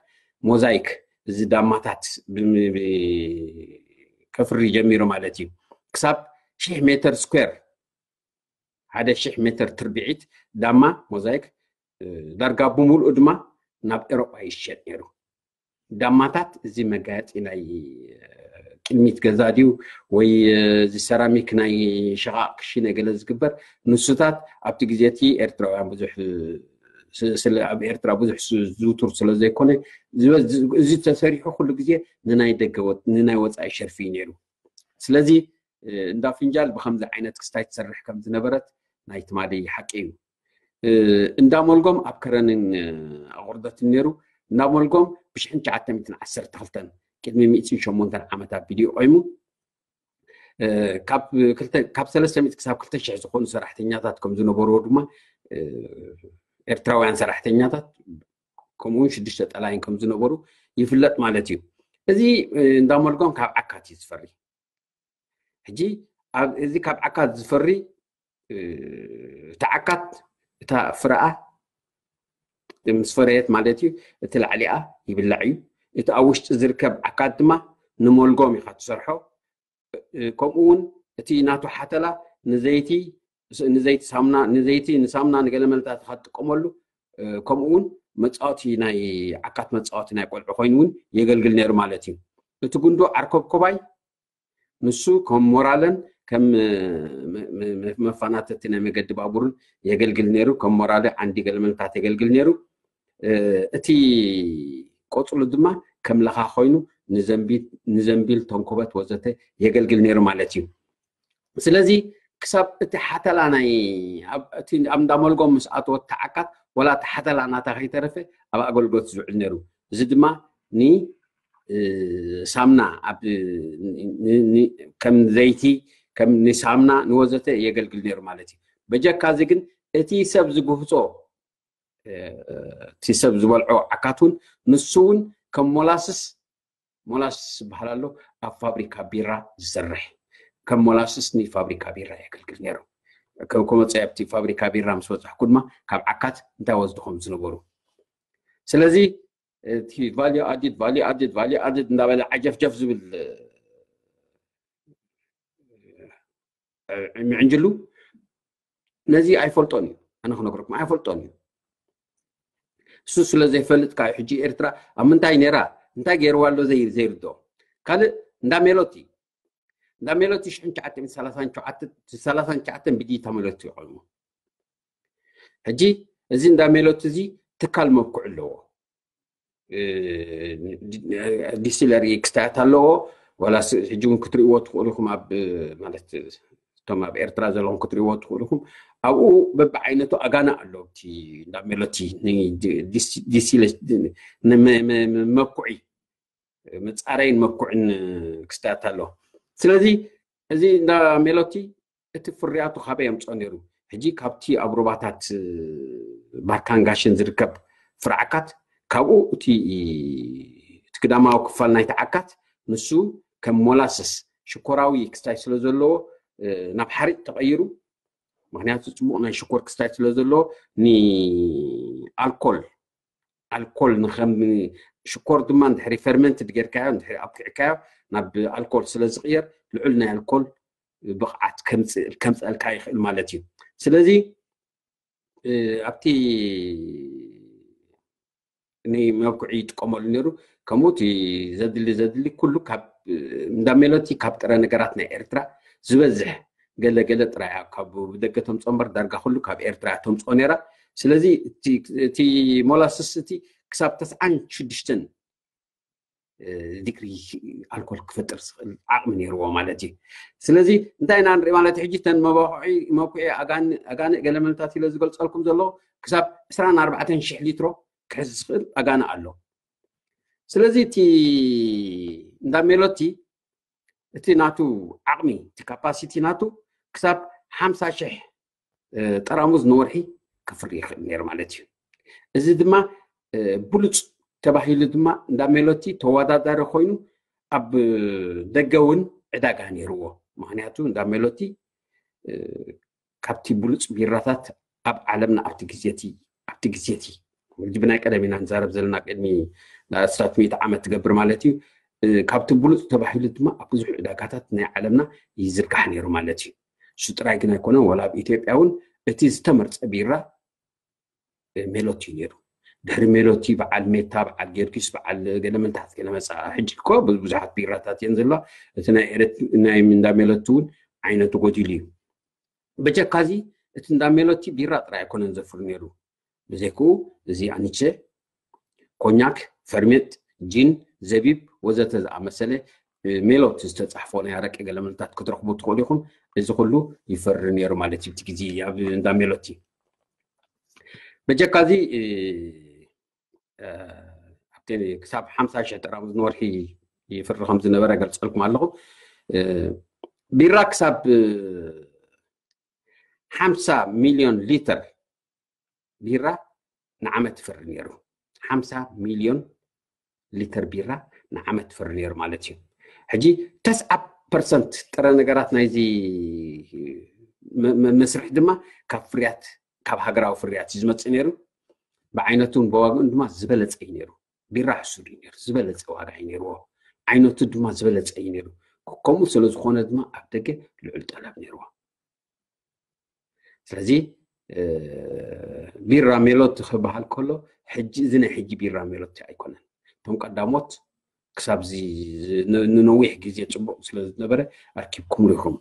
ሞዛይክ እዚ ዳማታት ከፍሪ ጀሚሩ ማለት እዩ። ክሳብ ሽሕ ሜተር ስኩዌር ሓደ ሽሕ ሜተር ትርቢዒት ዳማ ሞዛይክ ዳርጋ ብምሉኡ ድማ ናብ ኤሮጳ ይሸጥ ነይሩ። ዳማታት እዚ መጋየፂ ናይ ቅድሚት ገዛ ድዩ ወይ እዚ ሰራሚክ ናይ ሸቓቕ ክሽነ ገለ ዝግበር ንሱታት ኣብቲ ግዜ እቲ ኤርትራውያን ብዙሕ ኣብ ኤርትራ ብዙሕ ዝውቱር ስለ ዘይኮነ እዚ ተሰሪሑ ኩሉ ግዜ ንናይ ደገ ንናይ ወፃኢ ሸርፊ እዩ ነይሩ። ስለዚ እንዳ ፍንጃል ብከምዚ ዓይነት ክስታይ ትሰርሕ ከም ዝነበረት ናይ ትማሊ ሓቂ እዩ። እንዳ ሞልጎም ኣብ ከረንን ኣቑርደትን ነይሩ። እንዳ ሞልጎም ብሽሕን ትሽዓተ ሚእትን ዓሰርተ ክልተን ቅድሚ ሚእትን ሸሞንተን ዓመት ኣቢሉ እዩ ቆይሙ። ካብ ሰለስተ ሚእቲ ክሳብ ክልተ ሽሕ ዝኾኑ ሰራሕተኛታት ከም ዝነበርዎ ድማ ኤርትራውያን ሰራሕተኛታት ከምኡውን ሽዱሽተ ጠላይን ከም ዝነበሩ ይፍለጥ ማለት እዩ። እዚ እንዳ ሞልጎም ካብ ዓካት እዩ ዝፈሪ። ሕጂ እዚ ካብ ዓካት ዝፈሪ እቲ ዓካት እታ ፍረኣ ምስ ፈረየት ማለት እዩ እቲ ላዕሊኣ ይብላዕ እዩ። እቲ ኣብ ውሽጢ ዝርከብ ዓካት ድማ ንሞልጎም ኢኻ ትሰርሖ። ከምኡ እውን እቲ ናቱ ሓተላ ንዘይቲ ንዘይቲ ሳምና ንዘይቲ ንሳምና ንገለ መልታት ኢኻ ትጥቀመሉ። ከምኡ እውን መፃወቲ ናይ ዓካት መፃወቲ ናይ ቆልዑ ኮይኑ እውን የገልግል ነይሩ ማለት እዩ። እቲ ጉንዶ ዓርኮብኮባይ ንሱ ከም ሞራለን ከም መፋናተቲ ናይ መገዲ ባቡርን የገልግል ነይሩ። ከም ሞራለ ዓንዲ ገለመልታት የገልግል ነይሩ። እቲ ቆፅሉ ድማ ከም ለኻ ኮይኑ ንዘንቢል ተንኮበት ወዘተ የገልግል ነይሩ ማለት እዩ። ስለዚ ክሳብ እቲ ሓተላ ናይ ኣብ እንዳመልጎም ምስ ኣተወት ተዓካት ወላ እቲ ሓተላ ናታ ከይተረፈ ኣብ ኣገልግሎት ዝውዕል ነይሩ። እዚ ድማ ንሳምና ከም ዘይቲ ከም ንሳምና ንወዘተ የገልግል ነይሩ ማለት እዩ። በጀካ እዚ ግን እቲ ሰብ ዝጉህፆ እቲ ሰብ ዝበልዖ ዓካት እውን ንሱ እውን ከም ሞላስስ ሞላስስ ዝበሃል ኣሎ ኣብ ፋብሪካ ቢራ ዝሰርሕ ከም ሞላስስ ንፋብሪካ ቢራ የገልግል ነይሩ። ከመፀ ኣብቲ ፋብሪካ ቢራ ምስ በፅሕኩ ድማ ካብ ዓካት እንታይ ወስድኹም ዝነበሩ። ስለዚ እቲ ቫልዩ ኣዲድ ቫልዩ ኣዲድ ቫልዩ ኣዲድ እንዳበለ ዓጀፍጀፍ ዝብል ምዕንጅሉ ነዚ ኣይፈልጦን እዩ። ኣነ ክነግረኩም ኣይፈልጦን እዩ። እሱ ስለ ዘይፈልጥ ካዩ ሕጂ ኤርትራ ኣብ ምንታይ ነይራ እንታይ ገይርዋ ኣሎ ዘይርዶ። ካልእ እንዳ ሜሎቲ እንዳ ሜሎቲ ሽሕን ትሽዓተ ሚእትን ሰላሳን ትሽዓተን ብዲታ ሜሎቲ ይቆይሙ። ሕጂ እዚ እንዳ ሜሎቲ እዚ ትካል መብኩዕ ኣለዎ። ዲስቲለሪ ክስታያት ኣለዎ። ዋላ ሕጂ እውን ክትርእይዎ ትኽእሉ ኢኹም ኣብ ማለት እቶም ኣብ ኤርትራ ዘለኹም ክትርእይዎ ትኽእሉ ኢኹም። ኣብኡ በብዓይነቱ ኣጋና ኣሎ። እቲ እንዳ ሜሎቲ መብኩዒ መፃረይን መብኩዕን ክስታያት ኣሎ። ስለዚ እዚ እንዳ ሜሎቲ እቲ ፍርያቱ ካበይ የምፅኦ ነይሩ? ሕጂ ካብቲ ኣብ ሩባታት ባርካን ጋሽን ዝርከብ ፍረ ዓካት ካብኡ እቲ እቲ ግዳማዊ ክፋል ናይቲ ዓካት ንሱ ከም ሞላስስ ሽኮራዊ ክስታይ ስለ ዘለዎ ናብ ሓሪጥ ተቐይሩ። ምክንያቱ ፅቡቕ ናይ ሽኮር ክስታይ ስለ ዘለዎ ንኣልኮል ኣልኮል ንከም ሽኮር ድማ እንድሕሪ ፈርመንት ጌርካዮ እንድሕሪ ኣብኪዕካዮ ናብ ኣልኮል ስለ ዝቕየር ልዑል ናይ ኣልኮል ብቕዓት ከምፀልካ ይኽእል ማለት እዩ። ስለዚ ኣብቲ ንመብኩዒ ይጥቀመሉ ነይሩ። ከምኡ እቲ ዘድሊ ዘድሊ ኩሉ ካብ እንዳ ሜሎቲ ካብ ጥረ ነገራት ናይ ኤርትራ ዝበዝሕ ገለ ገለ ጥራይ ካብ ብደገ ተምፅኦ እምበር ዳርጋ ኩሉ ካብ ኤርትራ ተምፅኦ ነይራ። ስለዚ እቲ ሞላስስ እቲ ክሳብ ተስዓን ሽዱሽተን ዲግሪ ኣልኮል ክፈጥር ዝኽእል ዓቕሚ ነይርዎ ማለት እዩ። ስለዚ እንታይ ኢና ንርኢ ማለት ሕጂ ተን መባኹዒ መኩዒ ኣጋንእ ገለመለታት ኢለ ዝገልፀልኩም ዘለኹ ክሳብ ዕስራን ኣርባዕተን ሽሕ ሊትሮ ክሕዝ ዝኽእል ኣጋንእ ኣሎ። ስለዚ እቲ እንዳ ሜሎቲ እቲ ናቱ ዓቕሚ እቲ ካፓሲቲ ናቱ ክሳብ ሓምሳ ሽሕ ጠራሙዝ ንወርሒ ክፍሪ ይኽእል ነይሩ ማለት እዩ። እዚ ድማ ብሉፅ ተባሂሉ ድማ እንዳ ሜሎቲ ተወዳዳሪ ኮይኑ ኣብ ደገ እውን ዕዳጋ ነይርዎ። ምክንያቱ እንዳ ሜሎቲ ካብቲ ብሉፅ ቢራታት ኣብ ዓለምና ኣብቲ ግዜቲ ኣብቲ ግዜቲ ሕጂ ብናይ ቀደም ኢና ንዛረብ ዘለና ቅድሚ ኣስታት ሚእቲ ዓመት ትገብር ማለት እዩ። ካብቲ ብሉፅ ተባሂሉ ድማ ኣብ ብዙሕ ዕዳጋታት ናይ ዓለምና ይዝርጋሕ ነይሩ ማለት እዩ። እሱ ጥራይ ግን ኣይኮነን፣ ዋላ ኣብ ኢትዮጵያ እውን እቲ ዝተመርፀ ቢራ ሜሎቲ እዩ ነይሩ። ድሕሪ ሜሎቲ በዓል ሜታ፣ በዓል ጊዮርጊስ፣ በዓል ገለመልታት ገለመፃ። ሕጂ እኮ ብዙሓት ቢራታት እየን ዘለዋ። እቲ ናይ እንዳ ሜሎቲ እውን ዓይነቱ ጎዲሉ እዩ። በጀካዚ እቲ እንዳ ሜሎቲ ቢራ ጥራይ ኣይኮነን ዘፍሪ ነይሩ። ብዘይክኡ እዚ ኣኒቸ፣ ኮኛክ፣ ፈርሜት፣ ጂን፣ ዘቢብ ወዘተ ዝኣመሰለ ሜሎት ዝተፃሕፎ ናይ ኣረቂ ገለመልታት ክትረኽቡ ትኽእሉ ኢኹም። እዚ ኩሉ ይፈሪ ነይሩ ማለት እዩ። እቲ ግዜ ኣብ እንዳ ሜሎቲ በጀካዚ ክሳብ ሓምሳ ሽሕ ጠራሙዝ ንወርሒ ይፍሪ ከም ዝነበረ ገልፀልኩም ኣለኹ። ቢራ ክሳብ ሓምሳ ሚሊዮን ሊተር ቢራ ንዓመት ይፈሪ ነይሩ። ሓምሳ ሚሊዮን ሊተር ቢራ ንዓመት ይፈሪ ነይሩ ማለት እዩ። ሕጂ ተስዓ ፐርሰንት ጥረ ነገራት ናይዚ መስርሕ ድማ ካብ ፍርያት ካብ ሃገራዊ ፍርያት እዩ ዝመፅእ ነይሩ። ብዓይነቱን ብዋግኡን ድማ ዝበለፀ እዩ ነይሩ። ቢራ ሕሱር እዩ ነይሩ፣ ዝበለፀ ዋጋ እዩ ነይርዎ። ዓይነቱ ድማ ዝበለፀ እዩ ነይሩ። ከምኡ ስለ ዝኾነ ድማ ኣብ ደገ ልዑል ጠለብ ነይርዎ። ስለዚ ቢራ ሜሎቲ ክበሃል ከሎ ሕጂ እዚ ናይ ሕጂ ቢራ ሜሎቲ ኣይኮነን። እቶም ቀዳሞት ክሳብ ንነዊሕ ግዜ ፅቡቕ ስለ ዝነበረ ኣርኪብኩምሉ ኢኹም።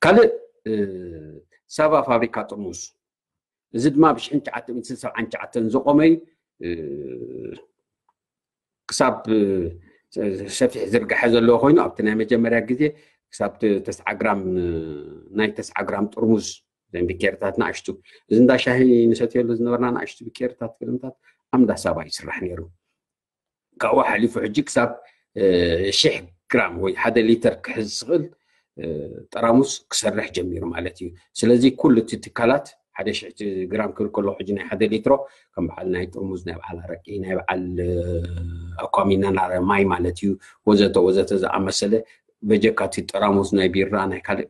ካልእ ሳቫ ፋብሪካ ጥርሙዝ፣ እዚ ድማ ብ ሽሕን ትሽዓተ ሚእትን ሰብዓን ትሽዓተን ዝቆመ እዩ። ክሳብ ሰፊሕ ዝርጋሐ ዘለዎ ኮይኑ ኣብቲ ናይ መጀመርያ ግዜ ክሳብ ተስዓ ግራም ናይ ተስዓ ግራም ጥርሙዝ ዘን ቢኬርታት ንኣሽቱ እዚ እንዳ ሻሂ ንሰትየሉ ዝነበርና ንኣሽቱ ቢኬርታት ክልምታት ኣብ እንዳ ሳባ ይስራሕ ነይሩ። ካብኡ ሓሊፉ ሕጂ ክሳብ ሽሕ ግራም ወይ ሓደ ሊተር ክሕዝ ዝኽእል ጠራሙስ ክሰርሕ ጀሚሩ ማለት እዩ። ስለዚ ኩሉ እቲ ትካላት ሓደ ሽሕ ግራም ክብል ከሎ ሕጂ ናይ ሓደ ሊትሮ ከም በዓል ናይ ጥርሙዝ ናይ በዓል ኣረቂ ናይ በዓል ኣኳሚና ማይ ማለት እዩ ወዘተ ወዘተ ዝኣመሰለ በጀካ እቲ ጠራሙዝ ናይ ቢራ ናይ ካልእ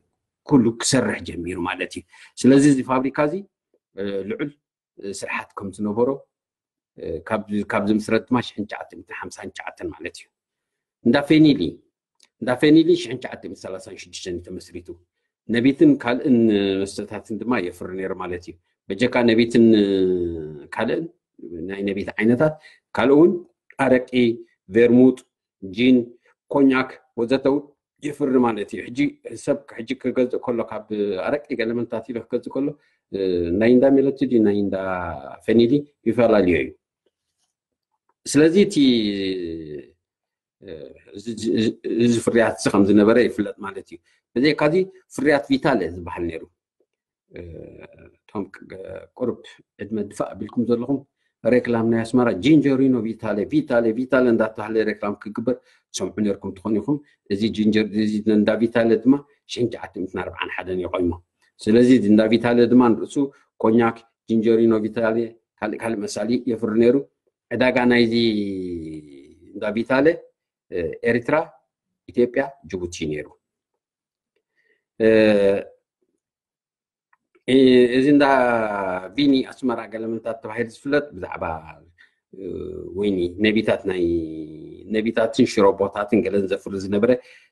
ኩሉ ክሰርሕ ጀሚሩ ማለት እዩ። ስለዚ እዚ ፋብሪካ እዚ ልዑል ስርሓት ከም ዝነበሮ ካብ ዝምስረት ድማ ሽሕን ትሽዓተ ሚእትን ሓምሳን ትሽዓተን ማለት እዩ። እንዳ ፌኒሊ እንዳ ፌኒሊ ሽሕን ትሽዓተ ሚእትን ሰላሳን ሽዱሽተን እዩ ተመስሪቱ። ነቢትን ካልእን መስተታትን ድማ የፍሪ ነይሩ ማለት እዩ። በጀካ ነቢትን ካልእን ናይ ነቢት ዓይነታት ካልእ እውን ኣረቂ፣ ቬርሙጥ፣ ጂን፣ ኮኛክ ወዘተ እውን የፍሪ ማለት እዩ። ሕጂ ሰብ ሕጂ ክገዝእ ከሎ ካብ ኣረቂ ገለመንታት ኢሉ ክገዝእ ከሎ ናይ እንዳ ሜሎቲ ድዩ ናይ እንዳ ፌኒሊ ይፈላለዮ እዩ። ስለዚ እቲ እዚ ፍርያት እዚ ከም ዝነበረ ይፍለጥ ማለት እዩ። ብዘይካዚ ፍርያት ቪታለ ዝበሃል ነይሩ። እቶም ቁርብ ዕድመ ድፋእ ኣቢልኩም ዘለኹም ሬክላም ናይ ኣስመራ ጂንጀሪኖ ቪታለ ቪታለ ቪታለ እንዳተባሃለ ሬክላም ክግበር ትሰምዑ ነርኩም ትኾኑ ኢኹም። እዚ ጂንጀር እዚ እንዳ ቪታለ ድማ ሽሕን ትሽዓተ ሚእትን ኣርባዓን ሓደን ይቆይሞ። ስለዚ እንዳ ቪታለ ድማ ንርእሱ ኮኛክ ጂንጀሪኖ ቪታለ ካልእ ካልእ መሳሊ የፍሪ ነይሩ። ዕዳጋ ናይዚ እንዳ ቪታለ ኤርትራ፣ ኢትዮጵያ፣ ጅቡቲ ነይሩ። እዚ እንዳ ቪኒ ኣስመራ ገለመንታት ተባሂሉ ዝፍለጥ ብዛዕባ ወይኒ ነቢታት ናይ ነቢታትን ሽሮቦታትን ገለን ዘፍሪ ዝነበረ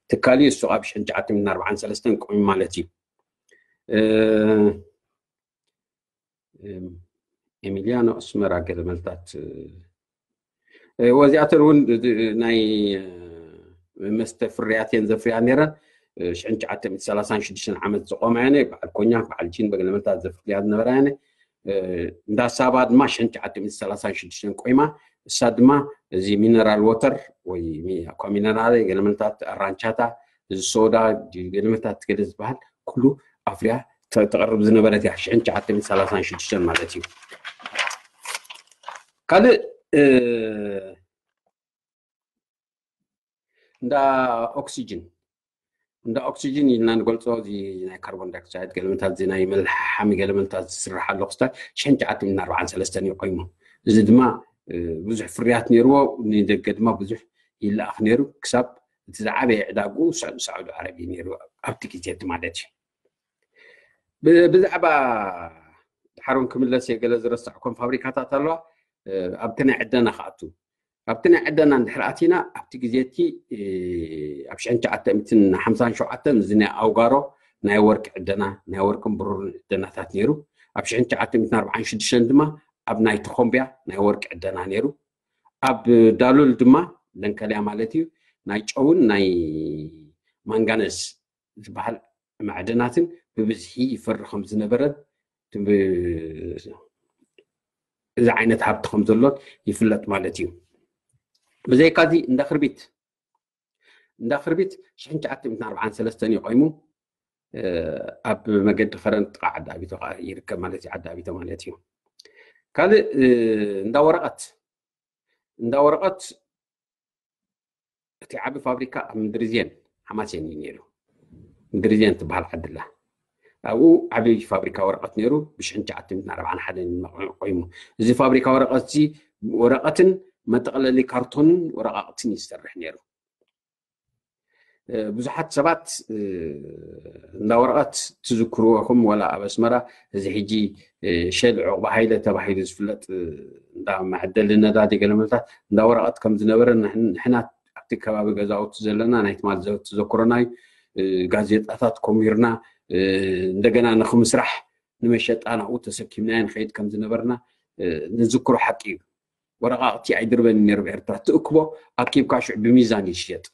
ትካል እዩ። እሱ ኣብ ሽሕን ትሽዓተ ሚእትን ኣርባዓን ሰለስተን ቆሚ ማለት እዩ። ኤሚሊያኖ ኣስመራ ገለመልታት ወዚኣተን እውን ናይ መስተ ፍርያት እየን ዘፍርያ ነይረን። ሽሕን ትሽዓተ ሚእትን ሰላሳን ሽዱሽተን ዓመት ዝቆማ ያነ በዓል ኮኛክ በዓል ጂን በገለመልታት ዘፍርያ ዝነበራ ያነ እንዳ ሳባ ድማ ሽሕን ትሽዓተ ሚእትን ሰላሳን ሽዱሽተን ቆይማ። እሳ ድማ እዚ ሚነራል ወተር ወይ ሚነራል ገለመልታት ኣራንቻታ፣ እዚ ሶዳ ገለመልታት ገለ ዝበሃል ኩሉ ኣፍርያ ተቕርብ ዝነበረት እያ። ሽሕን ትሽዓተ ሚእትን ሰላሳን ሽዱሽተን ማለት እዩ። ካልእ እንዳ ኦክሲጅን እንዳ ኦክሲጅን ኢልና ንገልፆ፣ እዚ ናይ ካርቦን ዳይኦክሳይድ ገለመልታት፣ እዚ ናይ መልሓሚ ገለመልታት ዝስራሕ ኣሎ ክስታይ ሽሕን ትሽዓተ ሚእትን ኣርባዓን ሰለስተን እዩ ቆይሙ። እዚ ድማ ብዙሕ ፍርያት ነይርዎ፣ ንደገ ድማ ብዙሕ ይለኣኽ ነይሩ። ክሳብ እቲ ዝዓበየ ዕዳግኡ ሳዑዲ ዓረብ እዩ ነይሩ ኣብቲ ግዜ እቲ ማለት እዩ። ብዛዕባ ድሓሮን ክምለስ እየ፣ ገለ ዝረሳዕኮም ፋብሪካታት ኣለዋ ኣብቲ ናይ ዕደና ክኣቱ። ኣብቲ ናይ ዕደና እንድሕር ኣቲና፣ ኣብቲ ግዜ እቲ ኣብ ሽሕን ትሽዓተ ሚእትን ሓምሳን ሸውዓተን እዚ ናይ ኣውጋሮ ናይ ወርቂ ዕደና፣ ናይ ወርቅን ብሩርን ዕደናታት ነይሩ። ኣብ ሽሕን ትሽዓተ ሚእትን ኣርባዓን ሽዱሽተን ድማ ኣብ ናይ ተኾምብያ ናይ ወርቂ ዕደና ነይሩ። ኣብ ዳሉል ድማ ደንከልያ ማለት እዩ፣ ናይ ጨውን ናይ ማንጋነዝ ዝበሃል ማዕድናትን ብብዝሒ ይፈሪ ከም ዝነበረን እዚ ዓይነት ሃብቲ ከም ዘሎን ይፍለጥ ማለት እዩ። ብዘይካዚ እንዳ ክርቢት እንዳ ክርቢት ሽሕን ትሽዓተ ሚእትን ኣርባዓን ሰለስተን እዩ ቆይሙ። ኣብ መገዲ ከረን ጥቓ ዓዲ ኣቢቶ ከዓ ይርከብ ማለት እዩ። ዓዲ ኣቢቶ ማለት እዩ። ካልእ እንዳ ወረቐት እንዳ ወረቐት እቲ ዓቢ ፋብሪካ ኣብ ምድርዜን ሓማሴን እዩ ነይሩ። ምድርዜን ትበሃል ዓድላ ኣብኡ ዓቢ ፋብሪካ ወረቐት ነይሩ። ብሽሕን ትሽዓተ ሚእትን ኣርባዓን ሓደን ቆይሙ። እዚ ፋብሪካ ወረቐት እዚ ወረቐትን መጠቕለሊ ካርቶንን ወረቓቕትን ይሰርሕ ነይሩ። ብዙሓት ሰባት እንዳ ወረቐት ትዝክርዎ ኢኹም፣ ወላ ኣብ ኣስመራ እዚ ሕጂ ሸል ዑቕባ ሃይለ ተባሂሉ ዝፍለጥ እንዳ መዐደሊ ነዳዲ ገለመልታት እንዳ ወረቐት ከም ዝነበረ ንሕና ኣብቲ ከባቢ ገዛውቲ ዘለና ናይ ትማል ተዘክሮና እዩ። ጋዜጣታት ኮሚርና እንደገና ንክምስራሕ ንመሸጣ ናብኡ ተሰኪምናዮ ንኸይድ ከም ዝነበርና ንዝክሮ ሓቂ እዩ። ወረቓቕቲ ኣይድርበን ነይሩ ብኤርትራ። ትእክቦ ኣኪብካ ሽዑ ብሚዛን ይሽየጥ።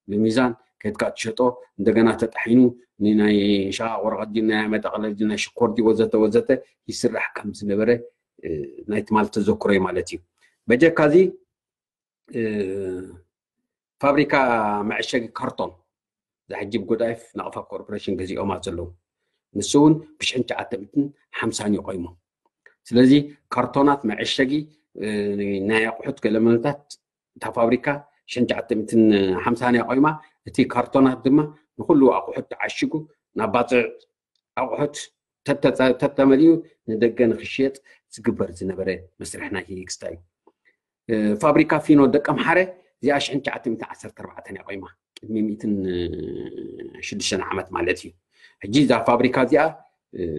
ብሚዛን ከድካ ትሸጦ፣ እንደገና ተጣሒኑ ንናይ ሸቓቕ ወረቐት ድዩ፣ ናይ መጠቕለሊ ድዩ፣ ናይ ሽኮር ድዩ፣ ወዘተ ወዘተ ይስራሕ ከም ዝነበረ ናይ ትማል ተዘክሮ እዩ ማለት እዩ። በጀካ እዚ ፋብሪካ መዐሸጊ ካርቶን ዛሕጂ ብጎዳይፍ ናቕፋ ኮርፖሬሽን ገዚኦማ ዘለዉ፣ ንሱ እውን ብሽሕን ትሽዓተ ሚእትን ሓምሳን እዩ ቆይሙ። ስለዚ ካርቶናት መዐሸጊ ናይ ኣቑሑት ገለመለታት እታ ፋብሪካ ሽሕን ትሽዓተ ሚእትን ሓምሳን እያ ቆይማ። እቲ ካርቶናት ድማ ንኹሉ ኣቑሑት ተዓሽጉ ናብ ባፅዕ ኣቑሑት ተተመሊኡ ንደገ ንክሽየጥ ዝግበር ዝነበረ መስርሕ ናይ ሂግስታ እዩ። ፋብሪካ ፊኖ ደቀምሓረ እዚኣ ሽሕን ትሽዓተ ሚእትን ዓሰርተ ኣርባዕተን እያ ቆይማ፣ ቅድሚ ሚእትን ሽዱሽተን ዓመት ማለት እዩ። ሕጂ እዛ ፋብሪካ እዚኣ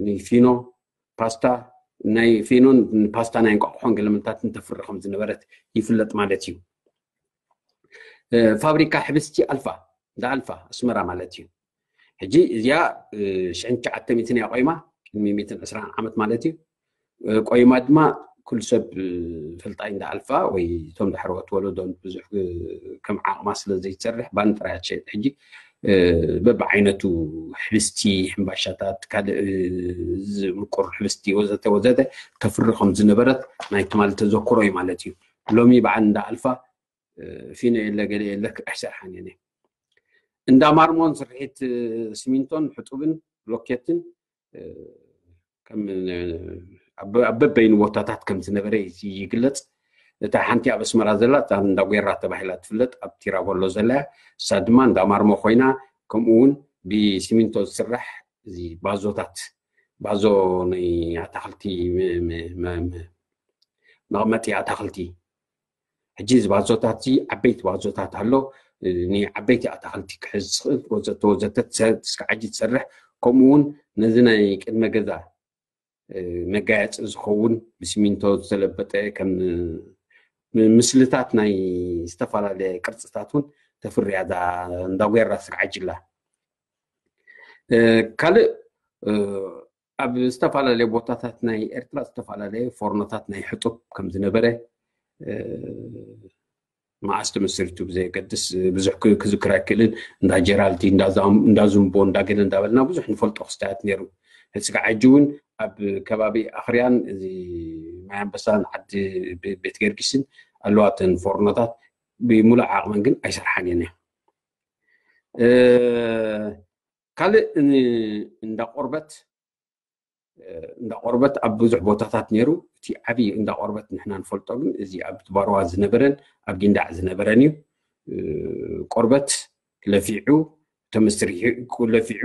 ንፊኖ ፓስታ ናይ ፊኖን ፓስታ ናይ እንቋቑሖን ገለመንታትን ተፍሪ ከም ዝነበረት ይፍለጥ ማለት እዩ። ፋብሪካ ሕብስቲ ኣልፋ እንዳ ኣልፋ ኣስመራ ማለት እዩ። ሕጂ እዚኣ ሽሕን ትሽዓተ ሚእትን እያ ቆይማ፣ ቅድሚ ሚእትን ዕስራን ዓመት ማለት እዩ። ቆይማ ድማ ኩሉ ሰብ ፈልጣይ እንዳ ኣልፋ ወይ እቶም ዳሕረዎት ወለዶ ብዙሕ ከም ዓቕማ ስለ ዘይትሰርሕ ባኒ ጥራይ እያ ትሸይጥ። ሕጂ በብዓይነቱ ሕብስቲ፣ ሕምባሻታት፣ ካልእ ምቁር ሕብስቲ ወዘተ ወዘተ ተፍሪ ከም ዝነበረት ናይ ትማሊ ተዘክሮ እዩ ማለት እዩ። ሎሚ በዓል እንዳ ኣልፋ ፊኖ የለ ገለ የለ ኣይሰርሓን እየን። እንዳ ማርሞን ስርሒት ስሚንቶን ሕጡብን ብሎኬትን ከም ኣብ በበይኑ ቦታታት ከም ዝነበረ ይግለጽ። እታ ሓንቲ ኣብ ኣስመራ ዘላ እታ እንዳ ጓራ ተባሂላ ትፍለጥ ኣብ ቲራጎሎ ዘላ እያ። እሳ ድማ እንዳ ማርሞ ኮይና፣ ከምኡ እውን ብሲሚንቶ ዝስራሕ እዚ ባዞታት፣ ባዞ ናይ ኣታኽልቲ መቐመጢ ኣታኽልቲ። ሕጂ እዚ ባዞታት እዚ ዓበይቲ ባዞታት ኣሎ፣ ንዓበይቲ ኣታኽልቲ ክሕዝ ዝኽእል ወዘተ ወዘተ ስጋዓጂ ትሰርሕ። ከምኡ እውን ነዚ ናይ ቅድመ ገዛ መጋየፂ ዝኸውን ብሲሚንቶ ዝተለበጠ ከም ምስልታት ናይ ዝተፈላለየ ቅርፅታት እውን ተፍርያ እዛ እንዳ ጓራ ስጋዓጂ ኣላ። ካልእ ኣብ ዝተፈላለየ ቦታታት ናይ ኤርትራ ዝተፈላለየ ፎርኖታት ናይ ሕጡብ ከም ዝነበረ መዓስ ተመስሪቱ ብዘየገድስ ብዙሕ ክዝክር ኣይክእልን። እንዳ ጀራልቲ፣ እንዳ ዝምቦ፣ እንዳ ገለ እንዳበልና ብዙሕ ንፈልጦ ክስታያት ነይሩ። ሕፅጋ ዓጂ እውን ኣብ ከባቢ ኣኽርያን እዚ ማይ ኣንበሳን ዓዲ ቤት ገርጊስን ኣለዋ እተን ፎርኖታት። ብሙሉእ ዓቕመን ግን ኣይሰርሓን እየን። ካልእ እንዳ ቆርበት እንዳ ቆርበት ኣብ ብዙሕ ቦታታት ነይሩ። እቲ ዓብዪ እንዳ ቆርበት ንሕና ንፈልጦ ግን እዚ ኣብ ባርዋ ዝነበረን ኣብ ጊንዳዕ ዝነበረን እዩ። ቆርበት ለፊዑ ተመስሪሑ ለፊዑ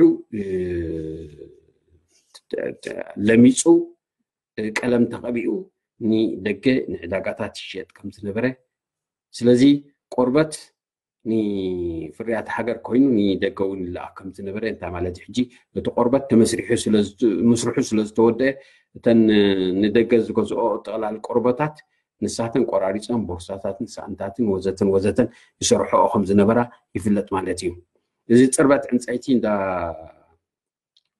ለሚፁ ቀለም ተቐቢኡ ንደገ ንዕዳጋታት ይሸጥ ከም ዝነበረ። ስለዚ ቆርበት ንፍርያት ሃገር ኮይኑ ንደገ እውን ይለኣኽ ከም ዝነበረ እንታይ ማለት እዩ? ሕጂ እቲ ቆርበት ተመስሪሑ ምስርሑ ስለ ዝተወደአ እተን ንደገ ዝገዝኦ ጠቕላል ቆርበታት ንሳተን ቆራሪፀን ቦርሳታትን ሳእንታትን ወዘተን ወዘተን ይሰርሖኦ ከም ዝነበራ ይፍለጥ ማለት እዩ። እዚ ፅርበት ዕንፀይቲ እንዳ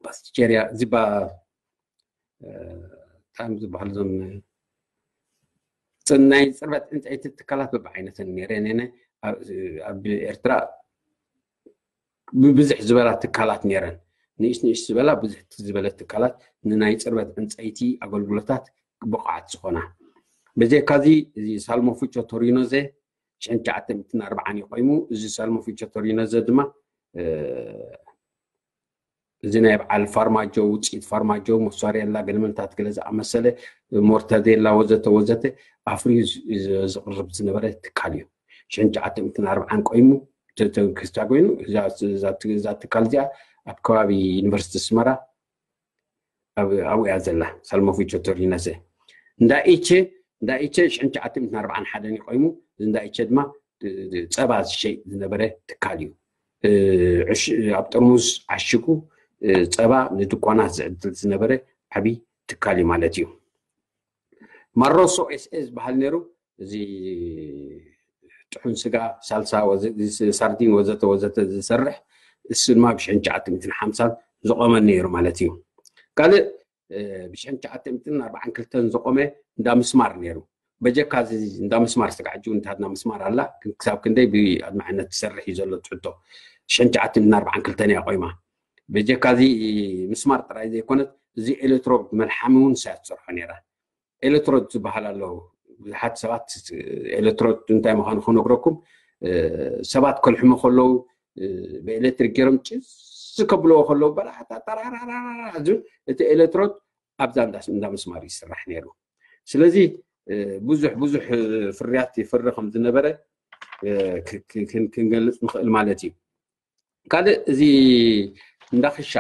ባስቲቸርያ እዚ እንታይ ዝበሃል እዞም ናይ ፅርበት ዕንፀይቲ ትካላት በብዓይነተን ነይረን እየን። ኣብ ኤርትራ ብብዝሕ ዝበላ ትካላት ነይረን። ንእሽ ንእሽ ዝበላ ብዙሕ ዝበለ ትካላት ንናይ ፅርበት ዕንፀይቲ ኣገልግሎታት ብቑዓት ዝኾና። በጀካዚ እዚ ሳልሞ ፉቾ ቶሪኖዘ ሽሕን ትሽዓተ ሚእትን ኣርባዓን እዩ ቆይሙ። እዚ ሳልሞ ፉቾ ቶሪኖዘ ድማ እዚ ናይ በዓል ፋርማጆ ውፅኢት ፋርማጆ ሞሳሬላ ገለመንታት ገለ ዝኣመሰለ ሞርታዴላ ወዘተ ወዘተ ኣፍርዩ ዝቕርብ ዝነበረ ትካል እዩ። ሽሕን ትሽዓተ ሚእትን ኣርባዓን ቆይሙ ክስታ ኮይኑ እዛ ትካል እዚኣ ኣብ ከባቢ ዩኒቨርሲቲ ኣስመራ ኣብኡ እያ ዘላ። ሳልሞፊቾ ቶሪነሰ እንዳ ኢቸ እንዳ ኢቸ ሽሕን ትሽዓተ ሚእትን ኣርባዓን ሓደን እዩ ቆይሙ። እዚ እንዳ ኢቸ ድማ ጸባ ዝሸይጥ ዝነበረ ትካል እዩ። ኣብ ጥርሙዝ ዓሽጉ ጸባ ንድኳናት ዝዕድል ዝነበረ ዓብዪ ትካል እዩ ማለት እዩ። ማሮሶ ኤስኤ ዝበሃል ነይሩ። እዚ ጥሑን ስጋ ሳልሳ ሳርዲን ወዘተ ወዘተ ዝሰርሕ እሱ ድማ ብሽሕን ትሽዓተ ሚእትን ሓምሳን ዝቆመ ነይሩ ማለት እዩ። ካልእ ብሽሕን ትሽዓተ ሚእትን ኣርባዓን ክልተን ዝቆመ እንዳ ምስማር ነይሩ። በጀካ እንዳ ምስማር ስጋዕ ሕጂ እውን እንዳ ምስማር ኣላ፣ ግን ክሳብ ክንደይ ብኣድማዕነት ትሰርሕ እዩ ዘሎ ትሕቶ። ሽሕን ትሽዓተ ሚእትን ኣርባዓን ክልተን እያ ቆይማ። በጀካ እዚ ምስማር ጥራይ ዘይኮነት እዚ ኤሌክትሮድ መልሓሚ እውን ሳያ ትሰርሖ ነይራ። ኤሌክትሮድ ዝበሃል ኣሎ። ብዙሓት ሰባት ኤሌክትሮድ እንታይ ምዃኑ ክነግረኩም፣ ሰባት ከልሕሙ ከለዉ ብኤሌክትሪክ ገይሮም ጭስ ከብልዎ ከለዉ በላሓታ ጠራራራራ ዝብል እቲ ኤሌክትሮድ ኣብዛ እንዳ ምስማር ይስራሕ ነይሩ። ስለዚ ብዙሕ ብዙሕ ፍርያት ይፍሪ ከም ዝነበረ ክንገልፅ ንኽእል ማለት እዩ። ካልእ እዚ እንዳክሻ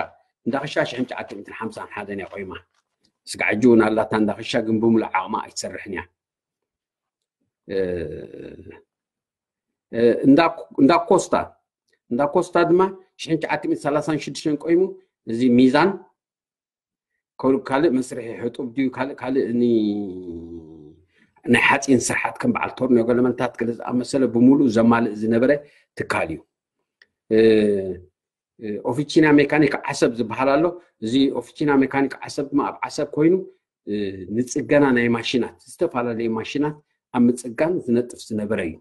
እንዳክሻ ሽሕን ትሽዓተ ሚእትን ሓምሳን ሓደን እያ ቆይማ። ስጋዕ ሕጂ እውን ኣላታ እንዳክሻ ግን ብምሉእ ዓቕማ ኣይትሰርሕን እያ። እንዳ ኮስታ እንዳ ኮስታ ድማ ሽሕን ትሽዓተ ሚእትን ሰላሳን ሽዱሽተን ቆይሙ። እዚ ሚዛን ካልእ መስርሒ ሕጡብ ድዩ ካልእ ካልእ ናይ ሓፂን ስርሓት ከም በዓል ቶርኒዮ ገለመንታት ገለ ዝኣመሰለ ብምሉእ ዘማልእ ዝነበረ ትካል እዩ። ኦፊቺና ሜካኒክ ዓሰብ ዝበሃል ኣሎ። እዚ ኦፊቺና ሜካኒክ ዓሰብ ድማ ኣብ ዓሰብ ኮይኑ ንፅገና ናይ ማሽናት ዝተፈላለዩ ማሽናት ኣብ ምፅጋን ዝነጥፍ ዝነበረ እዩ።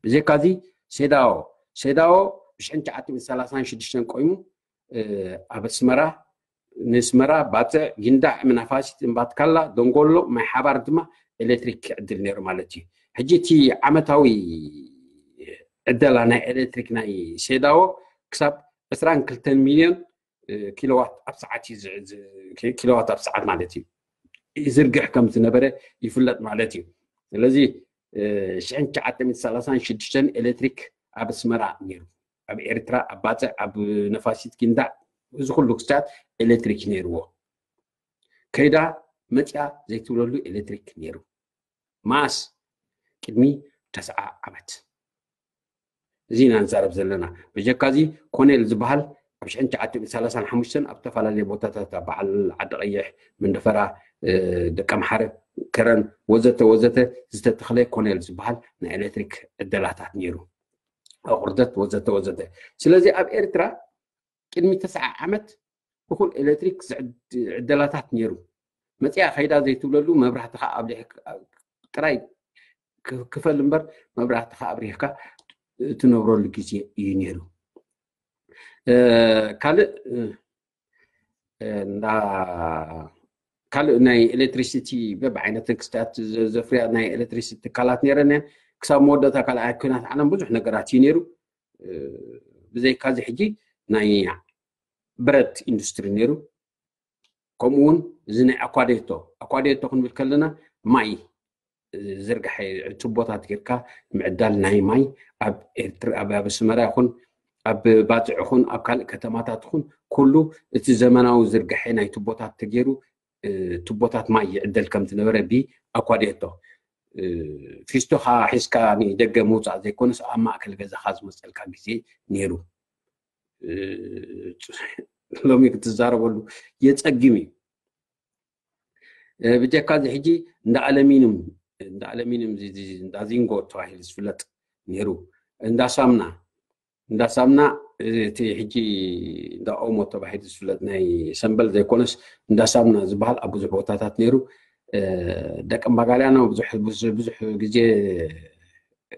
ብዘይካዚ ሴዳኦ ሴዳኦ ብሽሕን ትሽዓተ ሚእትን ሰላሳን ሽዱሽተን ቆይሙ ኣብ ኣስመራ ንስመራ ባፅዕ ጊንዳዕ ምናፋሲት እምባትካላ ደንጎሎ ማይ ሓባር ድማ ኤሌክትሪክ ክዕድል ነይሩ ማለት እዩ። ሕጂ እቲ ዓመታዊ ዕደላ ናይ ኤሌክትሪክ ናይ ሴዳዎ ክሳብ ዕስራን ክልተን ሚልዮን ኪሎዋት ኣብ ሰዓት ኪሎዋት ኣብ ሰዓት ማለት እዩ ይዝርግሕ ከም ዝነበረ ይፍለጥ ማለት እዩ። ስለዚ ሽሕን ትሽዓተ ሚእትን ሰላሳን ሽዱሽተን ኤሌክትሪክ ኣብ ኣስመራ ነይሩ። ኣብ ኤርትራ ኣብ ባፅዕ ኣብ ነፋሲት ጊንዳዕ እዚ ኩሉ ክስታት ኤሌክትሪክ ነይርዎ። ከይዳ መፅያ ዘይትብለሉ ኤሌክትሪክ ነይሩ። ማስ ቅድሚ ተስዓ ዓመት እዚ ኢና ንዛረብ ዘለና። በጀካ እዚ ኮኔል ዝበሃል ኣብ ሽሕን ትሽዓተ ሚእትን ሰላሳን ሓሙሽተን ኣብ ዝተፈላለዩ ቦታታት ኣብ በዓል ዓዲ ቀይሕ፣ መንደፈራ፣ ደቀምሓረ፣ ከረን ወዘተ ወዘተ ዝተተኽለ ኮኔል ዝበሃል ናይ ኤሌክትሪክ ዕደላታት ነይሩ። ኣቑርደት ወዘተ ወዘተ። ስለዚ ኣብ ኤርትራ ቅድሚ ተስዓ ዓመት እኹል ኤሌክትሪክ ዕደላታት ነይሩ። መፅያ ከይዳ ዘይትብለሉ መብራህትኻ ኣብሪህ ጥራይ ክፈል እምበር መብራህትኻ ኣብሪህካ ትነብረሉ ግዜ እዩ ነይሩ። ካልእ እንዳ ካልእ ናይ ኤሌክትሪሲቲ በብዓይነትን ክስታት ዘ- ዘፍርያ ናይ ኤሌክትሪሲቲ ትካላት ነይረን እየን። ክሳብ መወዳእታ ካልኣይ ኩናት ዓለም ብዙሕ ነገራት እዩ ነይሩ። ብዘይካዚ ሕጂ ናይ ብረት ኢንዱስትሪ ነይሩ። ከምኡ እውን እዚ ናይ ኣኳዴቶ ኣኳዴቶ ክንብል ከለና ማይ ዝርግሐ ቱቦታት ጌርካ ምዕዳል ናይ ማይ ኣብ ኤርትራ ኣብ ኣስመራ ይኹን ኣብ ባጽዕ ይኹን ኣብ ካልእ ከተማታት ይኹን ኩሉ እቲ ዘመናዊ ዝርግሐ ናይ ቱቦታት ተገይሩ ቱቦታት ማይ ይዕደል ከም ዝነበረ ብኣኳዴቶ ፊስቶኻ ሒዝካ ንደገ ምውፃእ ዘይኮነስ ኣብ ማእከል ገዛኻ ዝመፀልካ ግዜ ነይሩ። ሎሚ ክትዛረበሉ የፀግም እዩ። ብጀካ እዚ ሕጂ እንዳ ኣለሚንም እንዳ ኣለሚንም እንዳ ዚንጎ ተባሂሉ ዝፍለጥ ነይሩ። እንዳ ሳምና እንዳ ሳምና እቲ ሕጂ እንዳ ኦሞ ተባሂሉ ዝፍለጥ ናይ ሰንበል ዘይኮነስ እንዳ ሳምና ዝበሃል ኣብ ብዙሕ ቦታታት ነይሩ። ደቂ እምባጋልያኖ ብዙሕ ግዜ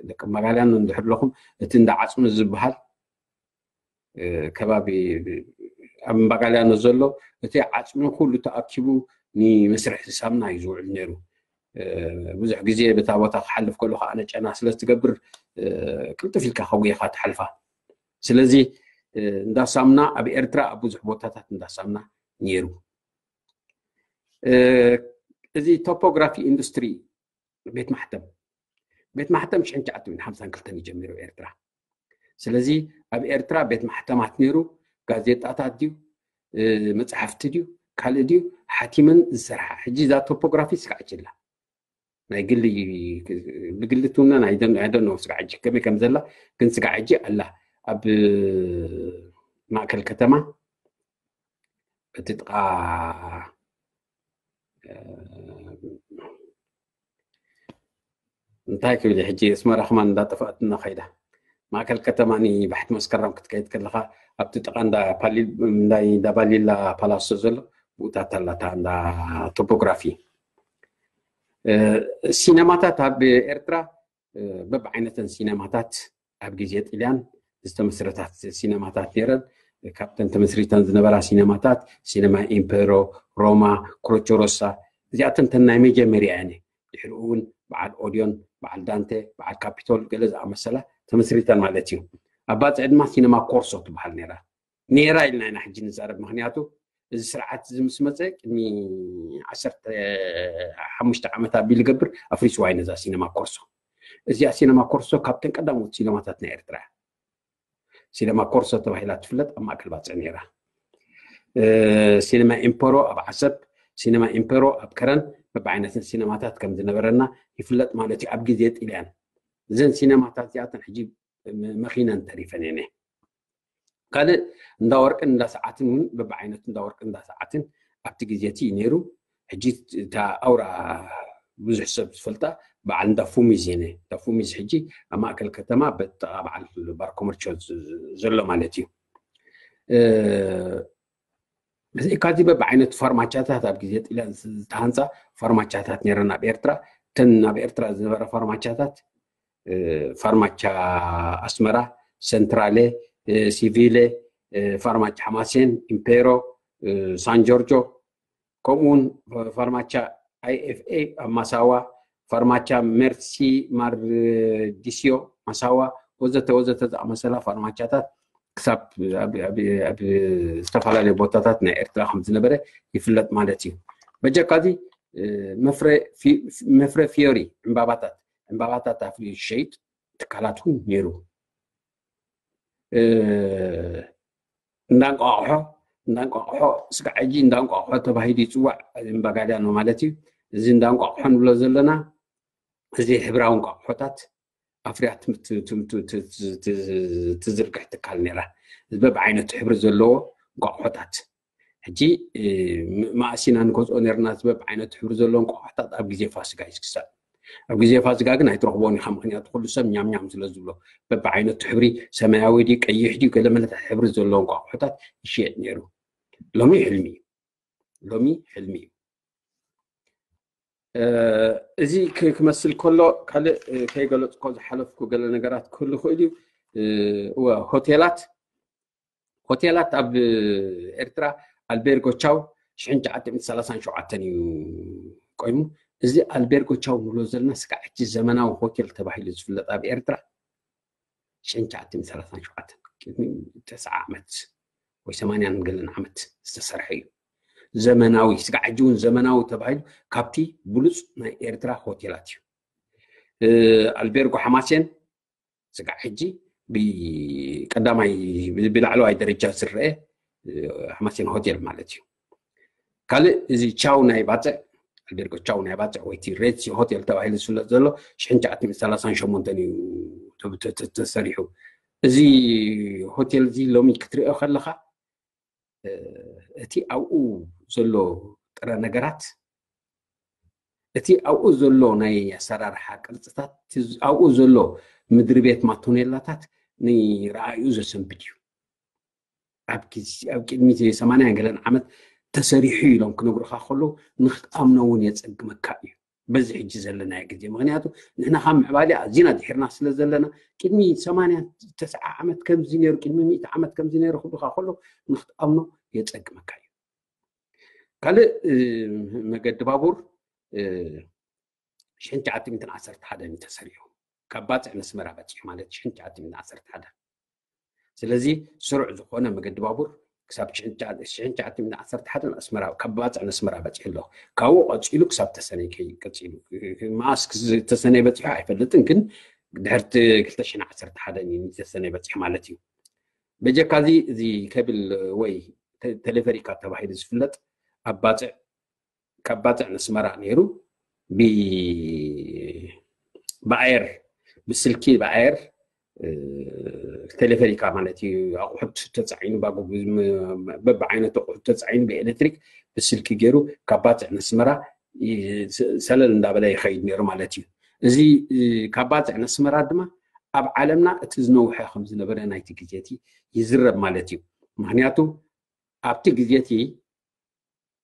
ደቂ እምባጋልያኖ እንድሕር ኣለኹም እቲ እንዳ ዓፅሚ ዝበሃል ከባቢ ኣብ እምባጋልያኖ ዘሎ እቲ ዓፅሚ ኩሉ ተኣኪቡ ንመስርሒ ሳምና እዩ ዝውዕል ነይሩ። ብዙሕ ግዜ በታ ቦታ ክሓልፍ ከሎ ከዓ ነጨና ስለ ዝትገብር ቅልጥፍ ኢልካ ከጉየኻ ትሓልፋ። ስለዚ እንዳ ሳምና ኣብ ኤርትራ ኣብ ብዙሕ ቦታታት እንዳ ሳምና ነይሩ። እዚ ቶፖግራፊ ኢንዱስትሪ ቤት ማሕተም ቤት ማሕተም ሽሕን ትሽዓተ ሚእትን ሓምሳን ክልተን ይጀሚሩ ኤርትራ። ስለዚ ኣብ ኤርትራ ቤት ማሕተማት ነይሩ። ጋዜጣታት ድዩ መፅሓፍቲ ድዩ ካልእ ድዩ ሓቲመን ዝሰርሓ። ሕጂ እዛ ቶፖግራፊ ስጋዕ ችላ ናይ ግሊ ብግሊ ትውነን ኣይደኖ ስጋዕ ሕጂ ከመይ ከም ዘላ ግን ስጋዕ ሕጂ ኣላ ኣብ ማእከል ከተማ እቲ ጥቃ እንታይ ክብል ሕጂ ኣስመራ ከማን እንዳጠፋእትና ከይዳ ማእከል ከተማ ባሕቲ መስከረም ክትከይድ ከለካ ኣብቲ ጥቃ እንዳባሊላ ፓላሶ ዘሎ ብኡታት ኣላታ እንዳ ቶፖግራፊ ሲነማታት ኣብ ኤርትራ በብዓይነተን ሲነማታት ኣብ ግዜ ጥልያን ዝተመስረታት ሲነማታት ነይረን። ካብተን ተመስሪተን ዝነበራ ሲነማታት ሲነማ ኢምፔሮ፣ ሮማ፣ ክሮቾሮሳ እዚኣተን ተን ናይ መጀመርያ እየን። ድሕሪኡ እውን በዓል ኦዲዮን በዓል ዳንተ በዓል ካፒቶል ገለ ዝኣመሰላ ተመስሪተን ማለት እዩ። ኣብ ባፅዕ ድማ ሲነማ ኮርሶ ትበሃል ነይራ። ነይራ ኢልና ኢና ሕጂ ንዛረብ። ምክንያቱ እዚ ስርዓት እዚ ምስ መፀ ቅድሚ ዓሰርተ ሓሙሽተ ዓመት ኣቢሉ ገብር ኣፍሪስዋ እዩ ነዛ ሲነማ ኮርሶ። እዚኣ ሲነማ ኮርሶ ካብተን ቀዳሞት ሲነማታት ናይ ኤርትራ እያ። ሲነማ ኮርሶ ተባሂላ ትፍለጥ ኣብ ማእከል ባፅዕ ነይራ። ሲነማ ኢምፐሮ ኣብ ዓሰብ፣ ሲነማ ኢምፐሮ ኣብ ከረን በብዓይነትን ሲነማታት ከም ዝነበረና ይፍለጥ ማለት እዩ። ኣብ ግዜ ጥልያን እዘን ሲነማታት እዚኣተን ሕጂ መኺነን ተሪፈን እየን። ካልእ እንዳ ወርቅን እንዳ ሰዓትን እውን በብዓይነቱ እንዳ ወርቅን እንዳ ሰዓትን ኣብቲ ግዜ እቲ እዩ ነይሩ። ሕጂ እታ ኣውራ ብዙሕ ሰብ ዝፈልጣ በዓል እንዳ ፉሚዝ እየን። እንዳ ፉሚዝ ሕጂ ኣብ ማእከል ከተማ በጥቓ በዓል ባር ኮመርቾ ዘሎ ማለት እዩ። ብዘይካዚ በብዓይነቱ ፋርማቻታት ኣብ ግዜ ጥልያን ዝተሃንፃ ፋርማቻታት ነይረን ኣብ ኤርትራ። እተን ኣብ ኤርትራ ዝነበራ ፋርማቻታት ፋርማቻ ኣስመራ፣ ሰንትራሌ፣ ሲቪሌ፣ ፋርማቻ ሓማሴን፣ ኢምፔሮ፣ ሳን ጆርጆ ከምኡውን ፋርማቻ ኣይኤፍኤ ኣብ ማሳዋ፣ ፋርማቻ ሜርሲ ማርዲስዮ ማሳዋ ወዘተ ወዘተ ዝኣመሰላ ፋርማቻታት ክሳብ ኣብ ዝተፈላለዩ ቦታታት ናይ ኤርትራ ከም ዝነበረ ይፍለጥ ማለት እዩ። በጀካዚ መፍረ ፊዮሪ ዕምባባታት ዕምባባታት ኣፍልዩ ዝሸይጥ ትካላት እውን ነይሩ። እንዳንቋቑሖ እንዳንቋቑሖ ስጋዕ ሕጂ እንዳንቋቑሖ ተባሂሉ ይፅዋዕ። እምባጋልያኖ ማለት እዩ። እዚ እንዳንቋቑሖ ንብሎ ዘለና እዚ ሕብራዊ እንቋቑሖታት ኣፍርያ ትዝርግሕ ትካል ነይራ። በብዓይነቱ ሕብሪ ዘለዎ እንቋቑሖታት ሕጂ ማእሲና ንገዝኦ ነርና ዝበብ ዓይነት ሕብሪ ዘለዎም ቆቋሕታት ኣብ ግዜ ፋስጋ እዩ ዝግዛእ። ኣብ ግዜ ፋስጋ ግን ኣይትረኽቦን ኢኻ፣ ምክንያቱ ኩሉ ሰብ ኛም ኛም ስለ ዝብሎ። በብዓይነቱ ሕብሪ ሰማያዊ ድዩ ቀይሕ ድዩ ገለ መለታት ሕብሪ ዘለዎም ቆቋሕታት ይሽየጥ ነይሩ። ሎሚ ሕልሚ እዩ። ሎሚ ሕልሚ እዩ። እዚ ክመስል ከሎ ካልእ ከይገለፅኮ ዝሓለፍኩ ገለ ነገራት ክህሉ ይኽእል እዩ። እወ ሆቴላት ሆቴላት ኣብ ኤርትራ ኣልቤርጎ ቻው ሽሕን ትሽዓተ ሚእትን ሰላሳን ሸውዓተን እዩ ቆይሙ። እዚ ኣልቤርጎ ቻው ንብሎ ዘለና ስጋዕ ሕጂ ዘመናዊ ሆቴል ተባሂሉ ዝፍለጥ ኣብ ኤርትራ ሽሕን ትሽዓተ ሚእትን ሰላሳን ሸውዓተን፣ ቅድሚ ተስዓ ዓመት ወይ ሰማንያን ገለን ዓመት ዝተሰርሐ እዩ። ዘመናዊ፣ ስጋዕ ሕጂ እውን ዘመናዊ ተባሂሉ ካብቲ ብሉፅ ናይ ኤርትራ ሆቴላት እዩ። ኣልቤርጎ ሓማሴን ስጋዕ ሕጂ ብቀዳማይ፣ ብላዕለዋይ ደረጃ ዝረአ ሓማሴን ሆቴል ማለት እዩ። ካልእ እዚ ቻው ናይ ባፅዕ፣ ኣልቤርጎ ቻው ናይ ባፅዕ ወይ እቲ ሬድሲ ሆቴል ተባሂሉ ዝፍለጥ ዘሎ ሽሕን ትሽዓተ ሚእትን ሰላሳን ሸሞንተን እዩ ተሰሪሑ። እዚ ሆቴል እዚ ሎሚ ክትሪኦ ከለካ እቲ ኣብኡ ዘሎ ጥረ ነገራት፣ እቲ ኣብኡ ዘሎ ናይ ኣሰራርሓ ቅርፅታት፣ ኣብኡ ዘሎ ምድሪ ቤት ማቶኔላታት ንረኣዩ ዘሰንብድ እዩ። ኣብ ቅድሚ ሰማንያን ገለን ዓመት ተሰሪሑ ኢሎም ክነግሩካ ከለዉ ንክትኣምኖ እውን የፀግመካ እዩ። በዚ ሕጂ ዘለናዮ ግዜ ምክንያቱ ንሕና ካብ ምዕባለ ኣዚና ድሒርና ስለ ዘለና ቅድሚ ሰማንያ ተስዓ ዓመት ከምዚ ነይሩ ቅድሚ ሚእቲ ዓመት ከምዚ ነይሩ ክብሉካ ከሎ ንክትኣምኖ የፀግመካ እዩ። ካልእ መገዲ ባቡር ሽሕን ትሽዓተ ሚእትን ዓሰርተ ሓደን እዩ ተሰሪሑ። ካብ ባፅዕ ነስመራ በፂሑ ማለት ሽሕን ትሽዓተ ሚእትን ዓሰርተ ሓደን። ስለዚ ስሩዕ ዝኾነ መገዲ ባቡር ክሳብ ሽሕን ትሽዓተ ሚእትን ዓሰርተ ሓደን ኣስመራ፣ ካብ ባፅዕ ነስመራ በፂሑ ኣሎ። ካብኡ ቀፂሉ ክሳብ ተሰነይ ቀፂሉ። መዓስ ተሰነይ በፂሑ ኣይፈልጥን፣ ግን ድሕርቲ ክልተ ሽሕን ዓሰርተ ሓደን እዩ ተሰነይ በፂሑ ማለት እዩ። በጀካ እዚ እዚ ከብል ወይ ቴሌፈሪካ ተባሂሉ ዝፍለጥ ኣብ ባፅዕ ካብ ባፅዕ ነስመራ ነይሩ ብኣየር ብስልኪ ብኣየር ቴሌፈሪካ ማለት እዩ። ኣቑሑት ተፃዒኑ በብዓይነቱ ኣቑሑት ተፃዒኑ ብኤሌክትሪክ ብስልኪ ገይሩ ካብ ባፅዕ ነስመራ ሰለል እንዳበለ ይኸይድ ነይሩ ማለት እዩ። እዚ ካብ ባፅዕ ነስመራ ድማ ኣብ ዓለምና እቲ ዝነውሐ ከም ዝነበረ ናይቲ ግዜ እቲ ይዝረብ ማለት እዩ። ምክንያቱ ኣብቲ ግዜ እቲ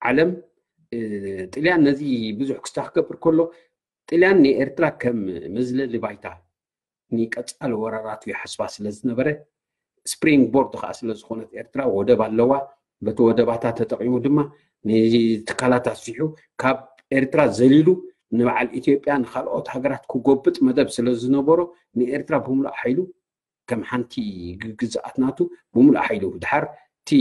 ዓለም ጥልያን ነዚ ብዙሕ ክስታ ክገብር ከሎ ጥልያን ንኤርትራ ከም መዝለሊ ባይታ ንቀፃሊ ወራራቱ ይሓስባ ስለ ዝነበረ ስፕሪንግ ቦርድ ከዓ ስለ ዝኾነት ኤርትራ ወደብ ኣለዋ። በቲ ወደባታ ተጠቂሙ ድማ ንትካላት ኣስፊሑ ካብ ኤርትራ ዘሊሉ ንበዓል ኢትዮጵያ ንካልኦት ሃገራት ክጎብጥ መደብ ስለ ዝነበሮ ንኤርትራ ብምሉእ ሓይሉ ከም ሓንቲ ግዝኣት ናቱ ብምሉእ ሓይሉ ድሓር እቲ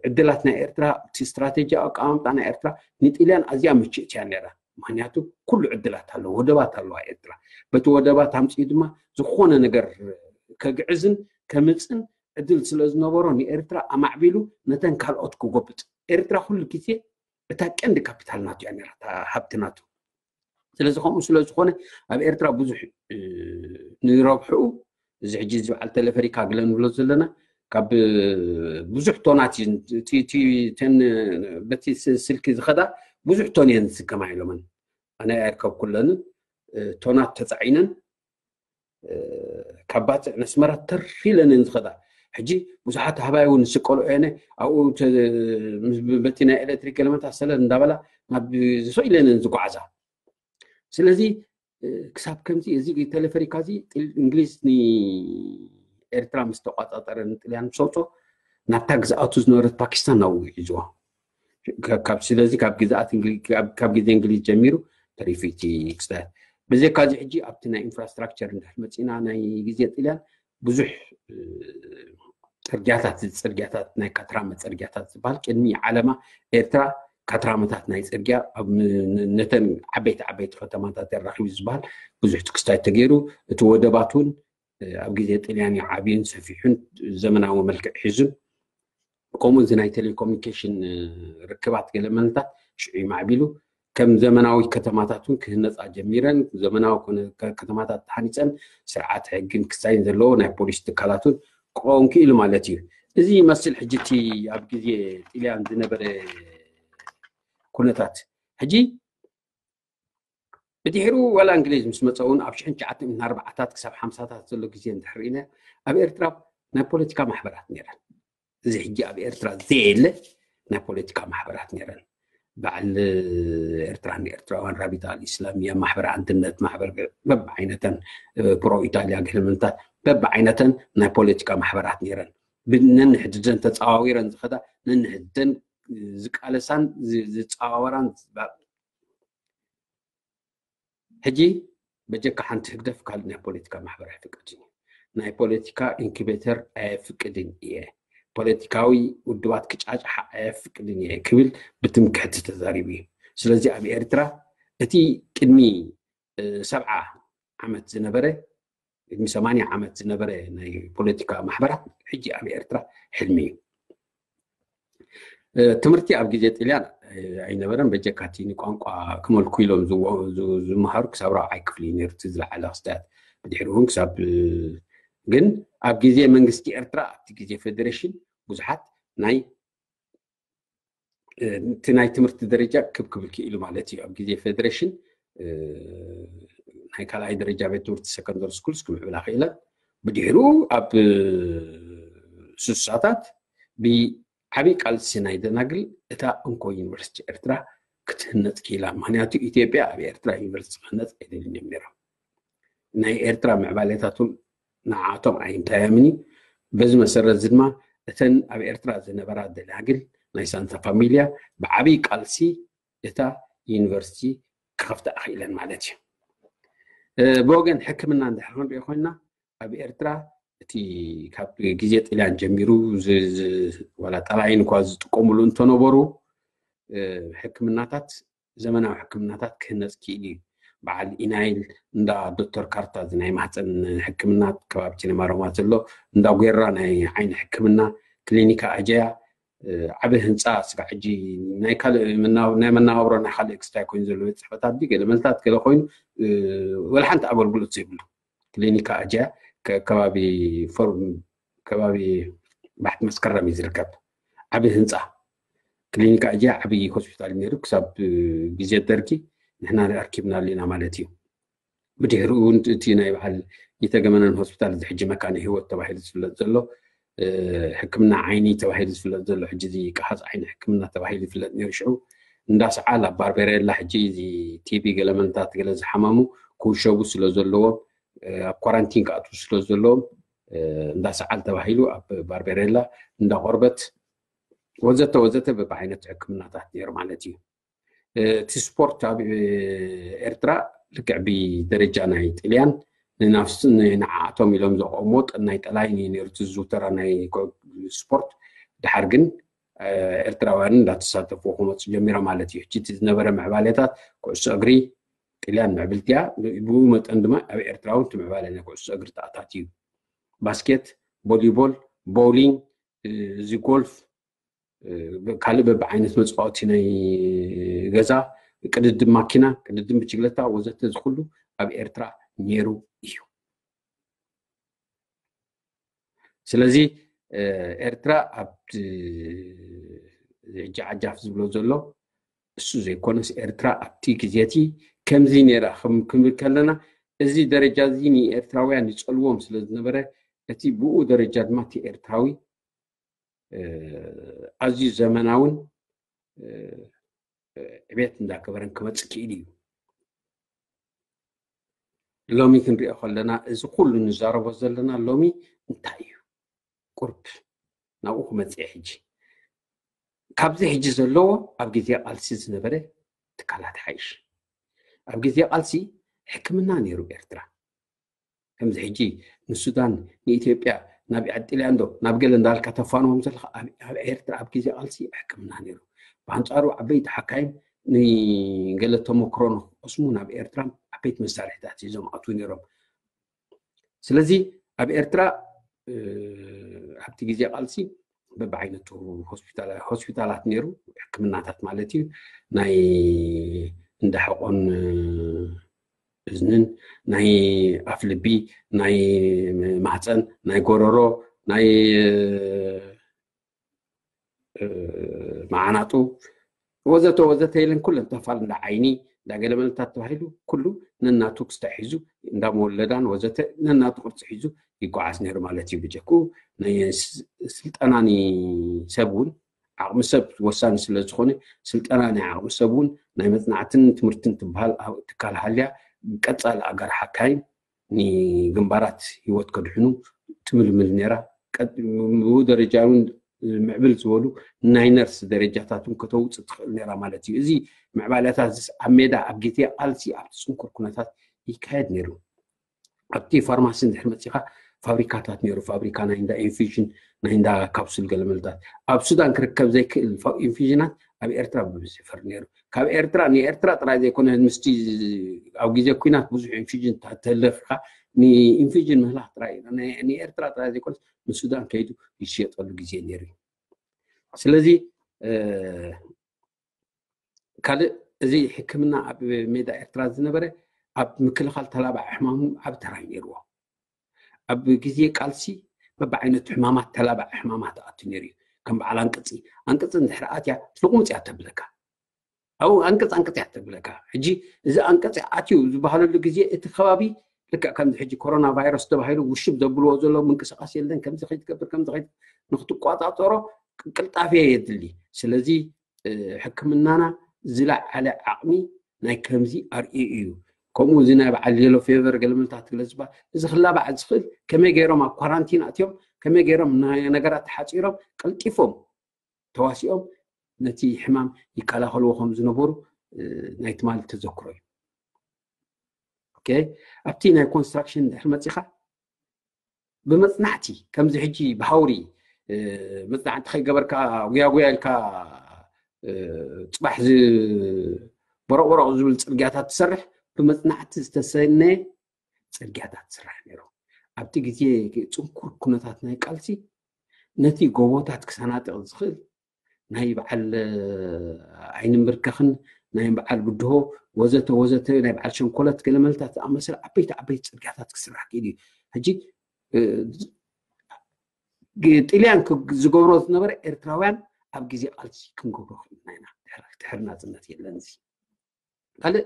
ዕድላት ናይ ኤርትራ እቲ ስትራቴጂ ኣቀማምጣ ናይ ኤርትራ ንጥልያን ኣዝያ ምችእት እያ ነራ። ምክንያቱ ኩሉ ዕድላት ኣለዎ፣ ወደባት ኣለዋ ኤርትራ። በቲ ወደባት ኣምፅኡ ድማ ዝኾነ ነገር ከግዕዝን ከምፅን ዕድል ስለ ዝነበሮ ንኤርትራ ኣማዕቢሉ ነተን ካልኦት ክጎብጥ። ኤርትራ ኩሉ ግዜ እታ ቀንዲ ካፒታል ናቱ እያ ነራ፣ እታ ሃብቲ ናቱ። ስለዚ ከምኡ ስለ ዝኾነ ኣብ ኤርትራ ብዙሕ ንረብሕኡ እዚ ሕጂ ዝበዓል ቴሌፈሪካ ግለ ንብሎ ዘለና ካብ ብዙሕ ቶናት በቲ ስልኪ ዝኸዳ ብዙሕ ቶን እየን ዝስከማ ኢሎምን ኣነ ኣይርከብ ኩለንን ቶናት ተፃዒነን ካብ ባፅዕ ነስመራ ተር ኢለን እየን ዝኸዳ። ሕጂ ብዙሓት ሃባይ እውን ዝስቀሉ እየነ ኣብኡ በቲ ናይ ኤሌክትሪክ ገለመታት ሰለል እንዳበላ ናብ ዝኽእል እየን ዝጓዓዛ። ስለዚ ክሳብ ከምዚ እዚ ቴሌፈሪካ እዚ እንግሊዝ ንኤርትራ ምስ ተቋፃፀረ ንጥልያን ምስ ኣውፅኦ ናብታ ግዝኣቱ ዝነበረት ፓኪስታን ናብኡ ሒዝዋ። ስለዚ ካብ ግዝኣት ካብ ግዜ እንግሊዝ ጀሚሩ ተሪፉ እቲ ክስታያት። ብዘይካ እዚ ሕጂ ኣብቲ ናይ ኢንፍራስትራክቸር እንድሕር መፂና ናይ ግዜ ጥልያን ብዙሕ ፅርግያታት ፅርግያታት ናይ ካትራመ ፅርግያታት ዝበሃል ቅድሚ ዓለማ ኤርትራ ካትራመታት ናይ ፅርግያ ነተን ዓበይቲ ዓበይቲ ከተማታት የራኪቡ ዝበሃል ብዙሕ ትክስታይ ተገይሩ። እቲ ወደባት እውን ኣብ ግዜ ጥልያን እዩ ዓብዩን ሰፊሑን ዘመናዊ መልክዕ ሒዙን ከምኡ እዚ ናይ ቴሌኮሙኒኬሽን ርክባት ገለ መነታት ሽዑ ይማዕቢሉ። ከም ዘመናዊ ከተማታት እውን ክህነፃ ጀሚረን ዘመናዊ ከተማታት ተሃኒፀን ስርዓት ሕግን ክሳይን ዘለዎ ናይ ፖሊስ ትካላት እውን ክኸውን ክኢሉ ማለት እዩ። እዚ ይመስል ሕጂ እቲ ኣብ ግዜ ጥልያን ዝነበረ ኩነታት። ሕጂ ብድሕሩ ዋላ እንግሊዝ ምስ መፀ እውን ኣብ ሽሕን ትሽዓተ ሚእትን ኣርባዓታት ክሳብ ሓምሳታት ዘሎ ግዜ እንድሕር ኢና ኣብ ኤርትራ ናይ ፖለቲካ ማሕበራት ነይረን። እዚ ሕጂ ኣብ ኤርትራ ዘየለ ናይ ፖለቲካ ማሕበራት ነይረን። በዓል ኤርትራ ንኤርትራውያን ራቢጣ ኣልእስላምያ ማሕበር ኣንድነት ማሕበር በብዓይነተን ፕሮ ኢጣልያ ገለመንታት በብዓይነተን ናይ ፖለቲካ ማሕበራት ነይረን። ነንሕድደን ተፃዋዊረን ዝኸዳ ነንሕድደን ዝቃለሳን ዝፃዋወራን። ሕጂ በጀካ ሓንቲ ህግደፍ ካልእ ናይ ፖለቲካ ማሕበር ኣይፍቀድን እዩ። ናይ ፖለቲካ ኢንኩቤተር ኣየፍቅድን እየ፣ ፖለቲካዊ ውድባት ክጫጫሓ ኣየፍቅድን እየ ክብል ብትምክሕቲ ተዛሪቡ እዩ። ስለዚ ኣብ ኤርትራ እቲ ቅድሚ ሰብዓ ዓመት ዝነበረ፣ ቅድሚ ሰማንያ ዓመት ዝነበረ ናይ ፖለቲካ ማሕበራት ሕጂ ኣብ ኤርትራ ሕልሚ እዩ። ትምህርቲ ኣብ ግዜ ጥልያን ኣይነበረን። በጀካቲ ንቋንቋ ክመልኩ ኢሎም ዝመሃሩ ክሳብ ራብዓይ ክፍሊ ነርት ዝለዓለ ክስታት፣ ብድሕሪ እውን ክሳብ ግን ኣብ ግዜ መንግስቲ ኤርትራ ኣብቲ ግዜ ፌደሬሽን ብዙሓት ናይ እቲ ናይ ትምህርቲ ደረጃ ክብ ክብል ክኢሉ ማለት እዩ። ኣብ ግዜ ፌደሬሽን ናይ ካልኣይ ደረጃ ቤት ትምህርቲ ሰከንደሪ ስኩልስ ክምዕብላ ክኢለን። ብድሕሩ ኣብ ስሳታት ብዓብይ ቃልሲ ናይ ደናግል እታ እንኮ ዩኒቨርሲቲ ኤርትራ ክትህነፅ ክኢላ። ምክንያቱ ኢትዮጵያ ኣብ ኤርትራ ዩኒቨርሲቲ ክህነፅ ኣይደልን እዮም ነይሮም። ናይ ኤርትራ ምዕባሌታት እውን ንዓቶም ኣይንታዮምን እዩ። በዚ መሰረት እዚ ድማ እተን ኣብ ኤርትራ ዝነበራ ደናግል ናይ ሳንታ ፋሚልያ ብዓብይ ቃልሲ እታ ዩኒቨርሲቲ ክኸፍታ ክኢለን ማለት እዩ። ብወገን ሕክምና እንድሕር ክንሪኦ ኮይና ኣብ ኤርትራ እቲ ካብ ግዜ ጥልያን ጀሚሩ ዋላ ጠላይን እኳ ዝጥቀሙሉ እንተነበሩ ሕክምናታት ዘመናዊ ሕክምናታት ክህነፅ ክኢሉ እዩ። በዓል ኢናይል እንዳ ዶክተር ካርታ እዚ ናይ ማህፀን ሕክምና ከባቢ ቲነማሮማ ዘሎ፣ እንዳ ጌራ ናይ ዓይኒ ሕክምና፣ ክሊኒካ ኣጀያ ዓብ ህንፃ ስጋ ሕጂ ናይ ካልእ ናይ መናባብሮ ናይ ካልእ ክስታይ ኮይኑ ዘሎ ቤት ፅሕፈታት ዲ ገለ መልታት ገለ ኮይኑ ወላ ሓንቲ ኣገልግሎት ዘይብሉ ክሊኒካ ኣጀያ ከባቢ ፎርም ከባቢ ባሕቲ መስከረም እዩ ዝርከብ። ዓብ ህንፃ ክሊኒካ ኣጀያ ዓብ ሆስፒታል ነይሩ ክሳብ ግዜ ደርጊ ንሕና ኣርኪብናሉ ኢና ማለት እዩ። ብድሕሪኡ እውን እቲ ናይ በዓል ይተገመነን ሆስፒታል እዚ ሕጂ መካነ ህይወት ተባሂሉ ዝፍለጥ ዘሎ ሕክምና ዓይኒ ተባሂሉ ዝፍለጥ ዘሎ ሕጂ እዚ ቀሓፅ ዓይኒ ሕክምና ተባሂሉ ይፍለጥ ነይሩ። ሽዑ እንዳ ሰዓል ኣብ ባርቤሬላ ሕጂ እዚ ቲቢ ገለመንታት ገለ ዝሓመሙ ክውሸቡ ስለ ዘለዎም ኣብ ኳራንቲን ክኣትዉ ስለ ዘለዎም እንዳ ሰዓል ተባሂሉ ኣብ ባርቤሬላ እንዳ ቆርበት ወዘተ ወዘተ በብዓይነቱ ሕክምናታት ነይሩ ማለት እዩ። እቲ ስፖርት ኣብ ኤርትራ ልክዕ ብደረጃ ናይ ጥልያን ንናፍስን ንዓኣቶም ኢሎም ዘቆምዎ ናይ ጠላይን እዩ ነይሩ እቲ ዝዝውተራ ናይ ስፖርት። ድሓር ግን ኤርትራውያን እንዳተሳተፉ ክመፁ ጀሚሮም ማለት እዩ። ሕጂ እቲ ዝነበረ ምዕባሌታት ኩዕሶ እግሪ ጥልያን ምዕብልቲ እያ። ብኡ መጠን ድማ ኣብ ኤርትራ እውን እቲ ምዕባለ ናይ ኩዕሶ እግሪ ተኣታትዩ። ባስኬት፣ ቦሊቦል፣ ቦውሊንግ፣ እዚ ጎልፍ፣ ካልእ በብዓይነት መፃወቲ ናይ ገዛ፣ ቅድድም ማኪና፣ ቅድድም ብችግለታ ወዘተ ዝኩሉ ኣብ ኤርትራ ነይሩ እዩ። ስለዚ ኤርትራ ኣብቲ ሕጂ ዓጃፍ ዝብሎ ዘሎ እሱ ዘይኮነስ ኤርትራ ኣብቲ ግዜ እቲ ከምዚ ነይራ ክንብል ከለና እዚ ደረጃ እዚ ንኤርትራውያን ይፀልዎም ስለ ዝነበረ እቲ ብኡ ደረጃ ድማ እቲ ኤርትራዊ ኣዝዩ ዘመናውን ዕቤት እንዳገበረን ክመፅእ ክኢሉ እዩ። ሎሚ ክንሪኦ ከለና እዚ ኩሉ ንዛረቦ ዘለና ሎሚ እንታይ እዩ? ቁርብ ናብኡ ክመፅእ ሕጂ ካብዚ ሕጂ ዘለዎ ኣብ ግዜ ቃልሲ ዝነበረ ትካላት ሓይሽ ኣብ ግዜ ቃልሲ ሕክምና ነይሩ ኤርትራ። ከምዚ ሕጂ ንሱዳን ንኢትዮጵያ ናብ ጥልያን ዶ ናብ ገለ እንዳልካ ተፋንዎም ዘለካ ኣብ ኤርትራ ኣብ ግዜ ቃልሲ ሕክምና ነይሩ። ብኣንፃሩ ዓበይቲ ሓካይም ንገለ ተመክሮ ንክቀስሙ ናብ ኤርትራ ዓበይቲ መሳርሒታት ሒዞም ኣትዉ ነይሮም። ስለዚ ኣብ ኤርትራ ኣብቲ ግዜ ቃልሲ በብዓይነቱ ሆስፒታላት ነይሩ፣ ሕክምናታት ማለት እዩ። ናይ እንዳ ሕቆን እዝንን፣ ናይ ኣፍ ልቢ፣ ናይ ማህፀን፣ ናይ ጎረሮ፣ ናይ መዓናጡ ወዘተ ወዘተ ኢለን ኩለን ተፋል እንዳ ዓይኒ እንዳ ገለመለታት ተባሂሉ ኩሉ ነናቱ ክስታይ ሒዙ እንዳ መወለዳን ወዘተ ነናቱ ቅርፂ ሒዙ ይጓዓዝ ነይሩ ማለት እዩ። ብጀክኡ ናይ ስልጠና ንሰብ እውን ዓቕሚ ሰብ ወሳኒ ስለ ዝኾነ ስልጠና ናይ ዓቕሚ ሰብ እውን ናይ መፅናዕትን ትምህርትን ትበሃል ትካል ሃልያ ቀፃሊ ኣጋር ሓካይም ንግንባራት ህይወት ከድሕኑ ትምልምል ነይራ። ብኡ ደረጃ እውን ምዕብል ዝበሉ ናይ ነርስ ደረጃታት እውን ከተውፅእ ትኽእል ነራ ማለት እዩ። እዚ ምዕባለታት ኣብ ሜዳ ኣብ ግዜ ቃልሲ ኣብቲ ፅንኩር ኩነታት ይካየድ ነይሩ። ኣብቲ ፋርማሲ እንድሕር መፂኻ ፋብሪካታት ነይሩ። ፋብሪካ ናይ እንዳ ኢንፊዥን፣ ናይ እንዳ ካፕሱል ገለመልታት ኣብ ሱዳን ክርከብ ዘይክእል ኢንፊዥናት ኣብ ኤርትራ ብብዝሒ ይፈሪ ነይሩ። ካብ ኤርትራ ንኤርትራ ጥራይ ዘይኮነ ምስቲ ኣብ ግዜ ኩናት ብዙሕ ኢንፊዥን ተለፊኻ ንኢንፊዥን ምህላኽ ጥራይ ንኤርትራ ጥራይ ዘይኮነ ንሱዳን ከይዱ ይሽየጠሉ ግዜ ነይሩ እዩ። ስለዚ ካልእ እዚ ሕክምና ኣብ ሜዳ ኤርትራ ዝነበረ ኣብ ምክልኻል ተላባዕ ሕማሙ ዓብ ተራይ ነይርዎ። ኣብ ግዜ ቃልሲ በብዓይነቱ ሕማማት ተላባዕ ሕማማት ኣቱ ነይሩ እዩ። ከም በዓል ኣንቅፂ፣ ኣንቅፂ እንድሕር ኣትያ ትልቁምፅ እያ ተብለካ። ኣብኡ ኣንቅፅ ኣንቅፅ እያ ተብለካ። ሕጂ እዚ ኣንቅፂ ኣትዩ ዝበሃለሉ ግዜ እቲ ከባቢ ልክዕ ከምዚ ሕጂ ኮሮና ቫይረስ ተባሂሉ ውሽብ ዘብልዎ ዘሎ ምንቅስቃስ የለን። ከምዚ ከይትገብር ከምዚ ከይ ንክትቋፃፀሮ ቅልጣፌ የድሊ። ስለዚ ሕክምናና ዝለዓለ ዓቕሚ ናይ ከምዚ ኣርእዩ እዩ። ከምኡ እዚ ናይ በዓል የሎ ፌቨር ገለመልታት ትግለ ዝበሃል እዚ ክላባዕ ዝኽእል ከመይ ገይሮም ኣብ ኳራንቲን ኣትዮም ከመይ ገይሮም ነገራት ተሓፂሮም ቀልጢፎም ተዋሲኦም ነቲ ሕማም ይከላኸልዎ ከም ዝነበሩ ናይ ትማሊ ተዘክሮ እዩ። ኣብቲ ናይ ኮንስትራክሽን ድሕር መፂኻ ብመፅናዕቲ ከምዚ ሕጂ ብሃውሪ መፅናዕቲ ከይገበርካ ጉያጉያ ኢልካ ፅባሕ በረቕበረቕ ዝብል ፅርግያታት ትሰርሕ ብመፅናዕቲ ዝተሰነየ ፅርግያታት ትስራሕ ነይሩ። ኣብቲ ግዜ ፅንኩር ኩነታት ናይ ቃልሲ ነቲ ጎቦታት ክሰናጥቕ ዝኽእል ናይ በዓል ኣይንምብርከኽን ናይ በዓል ብድሆ ወዘተ ወዘተ ናይ በዓል ሸንኮለት ገለመልታት ዝኣመሰለ ዓበይቲ ዓበይቲ ፅርግያታት ክስራሕ ክኢሉ እዩ። ሕጂ ጥልያን ዝገብሮ ዝነበረ ኤርትራውያን ኣብ ግዜ ቃልሲ ክንገብሮ ክኢልና ኢና። ድሕር ናፅነት የለን። እዚ ካልእ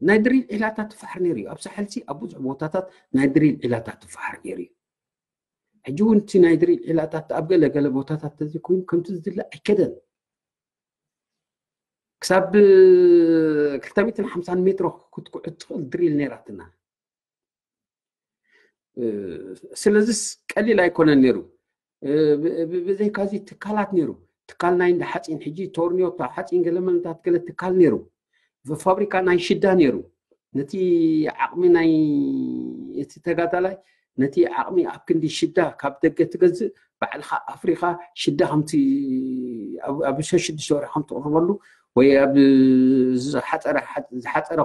ናይ ድሪል ዒላታት ትፋሕር ነይሩ እዩ። ኣብ ሳሕልሲ ኣብ ብዙሕ ቦታታት ናይ ድሪል ዒላታት ትፋሕር ነይሩ እዩ። ሕጂ እውን እቲ ናይ ድሪል ዒላታት ኣብ ገለ ገለ ቦታታት ተዘይኮይኑ ከምቲ ዝድለ ኣይከደን። ክሳብ ክልተ ሚእትን ሓምሳን ሜትሮ ክትኩዕት ትኽእል ድሪል ነይራትና። ስለዚስ ቀሊል ኣይኮነን ነይሩ። ብዘይካዚ ትካላት ነይሩ። ትካል ናይ እንዳ ሓፂን ሕጂ ቶርኒዮታ ሓፂን ገለመለታት ገለ ትካል ነይሩ። ፋብሪካ ናይ ሽዳ ነይሩ። ነቲ ዓቕሚ ናይ እቲ ተጋዳላይ ነቲ ዓቕሚ ኣብ ክንዲ ሽዳ ካብ ደገ ትገዝእ ባዕልኻ ኣፍሪኻ ሽዳ ከምቲ ኣብ ሸሽዱሽተ ወርሒ ከም ትቕርበሉ ወይ ኣብ ዝሓፀረ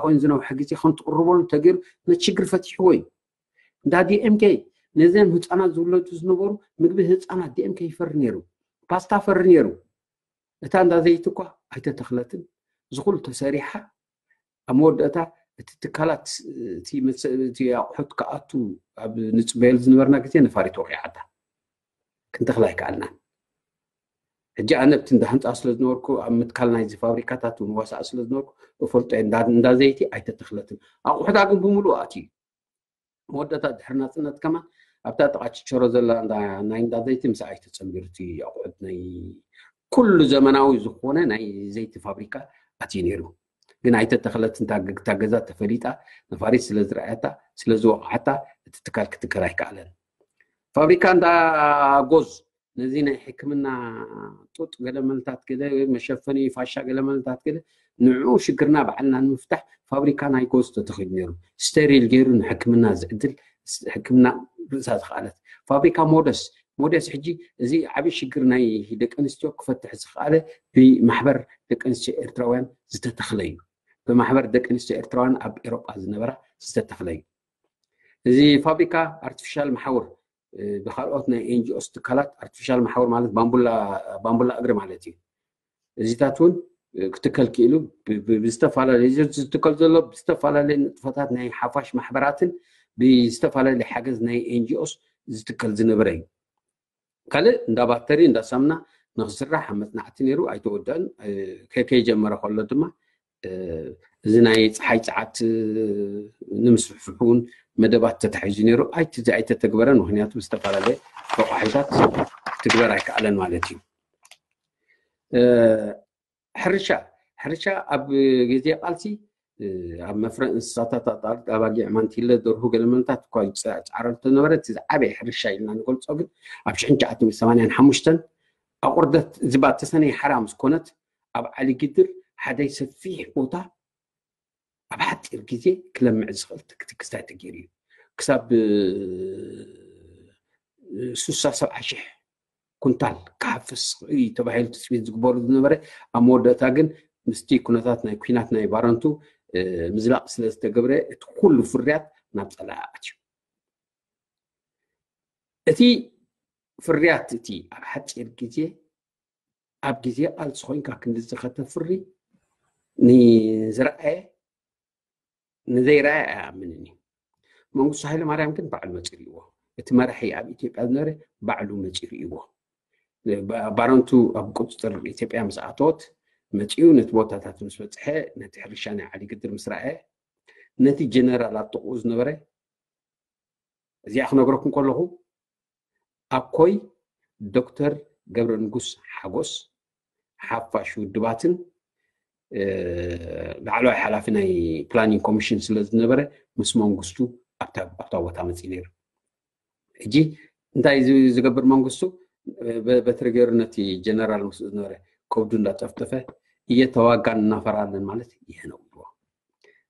ኮይኑ ዝነውሐ ግዜ ከም ትቕርበሉ ተገይሩ ነቲ ሽግር ፈቲሕዎ እዩ። እንዳ ዲኤምኬ ነዚም ህፃናት ዝውለዱ ዝነበሩ ምግቢ ህፃናት ዲኤምኬ ይፈሪ ነይሩ። ፓስታ ፈሪ ነይሩ። እታ እንዳ ዘይቲ እኳ ኣይተተኽለትን። ዝኹሉ ተሰሪሓ ኣብ መወዳእታ እቲ ትካላት እቲ ኣቑሑት ክኣቱ ኣብ ንፅበየሉ ዝነበርና ግዜ ነፋሪት ወቂዓታ። ክንተኽላ ኣይከኣልናን። ሕጂ ኣነ ኣብቲ እንዳ ህንፃ ስለ ዝነበርኩ ኣብ ምትካል ናይዚ ፋብሪካታት እውን ዋሳእ ስለ ዝነበርኩ እፈልጦ እየ። እንዳ ዘይቲ ኣይተተኽለትን። ኣቑሑታ ግን ብምሉእ ኣትዩ። መወዳእታ ድሕሪ ናፅነት ከማን ኣብታ ጥቓ ችቸሮ ዘላ ናይ እንዳ ዘይቲ ምስ ኣይተፀንቢሩ እቲ ኣቑሑት ናይ ኩሉ ዘመናዊ ዝኾነ ናይ ዘይቲ ፋብሪካ ኣትዩ ነይሩ። ግን ኣይተተኽለትን። እታ ገዛ ተፈሊጣ ነፋሪት ስለ ዝረኣያታ ስለ ዝወቕዓታ እቲ ትካል ክትከል ኣይከኣለን። ፋብሪካ እንዳ ጎዝ ነዚ ናይ ሕክምና ጡጥ ገለመልታት ገለ መሸፈኒ ፋሻ ገለመልታት ገለ ንዑ ሽግርና ባዕልና ንምፍታሕ ፋብሪካ ናይ ጎዝ ተተኺሉ ነይሩ። ስቴሪል ገይሩ ንሕክምና ዝዕድል ሕክምና ርእሳ ዝኸኣለት ፋብሪካ ሞደስ። ሞደስ ሕጂ እዚ ዓብ ሽግር ናይ ደቂ ኣንስትዮ ክፈትሕ ዝኸኣለ ብማሕበር ደቂ ኣንስትዮ ኤርትራውያን ዝተተኽለ እዩ። ብማሕበር ደቂ ኣንስትዮ ኤርትራውያን ኣብ ኤሮጳ ዝነበራ ዝተተኽለ እዩ። እዚ ፋብሪካ ኣርቲፊሻል መሓውር ብካልኦት ናይ ኤንጂኦስ ትካላት ኣርቲፊሻል መሓውር ማለት ባምቡላ እግሪ ማለት እዩ። እዚታት እውን ክትከል ክኢሉ ብዝተፈላለዩ ዝትከል ዘሎ ብዝተፈላለዩ ንጥፈታት ናይ ሓፋሽ ማሕበራትን ብዝተፈላለዩ ሓገዝ ናይ ኤንጂኦስ ዝትከል ዝነበረ እዩ። ካልእ እንዳ ባተሪ እንዳ ሳምና ንክስራሕ ኣብ መፅናዕቲ ነይሩ ኣይተወደአን። ከይጀመረ ከሎ ድማ እዚ ናይ ፀሓይ ፀዓት ንምስፍሕፉ እውን መደባት ተታሒዙ ነይሩ። ኣይተተግበረን። ምክንያቱ ዝተፈላለየ ረቋሒታት ትግበር ኣይከኣለን ማለት እዩ። ሕርሻ ሕርሻ ኣብ ግዜ ቃልሲ ኣብ መፍረ እንስሳታት ኣጣርጥ ኣባጊዕ ማንቲለ ደርሁ ገለመንታት እኳ ይፃዕረሉ ተነበረ። እቲ ዝዓበየ ሕርሻ ኢልና ንገልፆ ግን ኣብ ሽሕን ትሽዓተ ሚእትን ሰማንያን ሓሙሽተን ኣቑርደት ዝባ ተሰነይ ሓራ ምስ ኮነት ኣብ ዓሊ ግድር ሓደ ሰፊሕ ቦታ ኣብ ሓፂር ግዜ ክለምዕ ዝኽእል ክስታይ ተገይሩ እዩ። ክሳብ ስሳ ሰብዓ ሽሕ ኩንታል ክሓፍስ ተባሂሉ ትፅቢት ዝግበሩ ዝነበረ ኣብ መወዳእታ ግን ምስቲ ኩነታት ናይ ኩናት ናይ ባረንቱ ምዝላቕ ስለ ዝተገብረ እቲ ኩሉ ፍርያት ናብ ፀላኢ ኣትዩ። እቲ ፍርያት እቲ ኣብ ሓፂር ግዜ ኣብ ግዜ ቃልሲ ኮይንካ ክንድዚ ከተፍሪ ንዝረኣየ ንዘይረኣየ ኣይኣምንን እዩ። መንግስቱ ሃይለማርያም ግን ባዕሉ መፂኡ ርእይዎ። እቲ መራሒ ኣብ ኢትዮጵያ ዝነበረ ባዕሉ መፂኡ ርእይዎ። ባረንቱ ኣብ ቁፅፅር ኢትዮጵያ ምስ ኣተወት መፂኡ ነቲ ቦታታት ምስ በፅሐ ነቲ ሕርሻ ናይ ዓሊ ግድር ምስ ረኣየ ነቲ ጀነራል ኣብ ጥቕኡ ዝነበረ እዚኣ ክነግረኩም ከለኹ ኣኮይ ዶክተር ገብረ ንጉስ ሓጎስ ሓፋሽ ውድባትን ላዕለዋይ ሓላፊ ናይ ፕላኒንግ ኮሚሽን ስለ ዝነበረ ምስ መንግስቱ ኣብታ ቦታ መፅእ ነይሩ። ሕጂ እንታይ ዝገብር መንግስቱ በትሪ ገይሩ ነቲ ጀነራል ምስ ዝነበረ ከብዱ እንዳጠፍጠፈ እየተዋጋን እናፈራለን ማለት ይሄ ነው ብሎ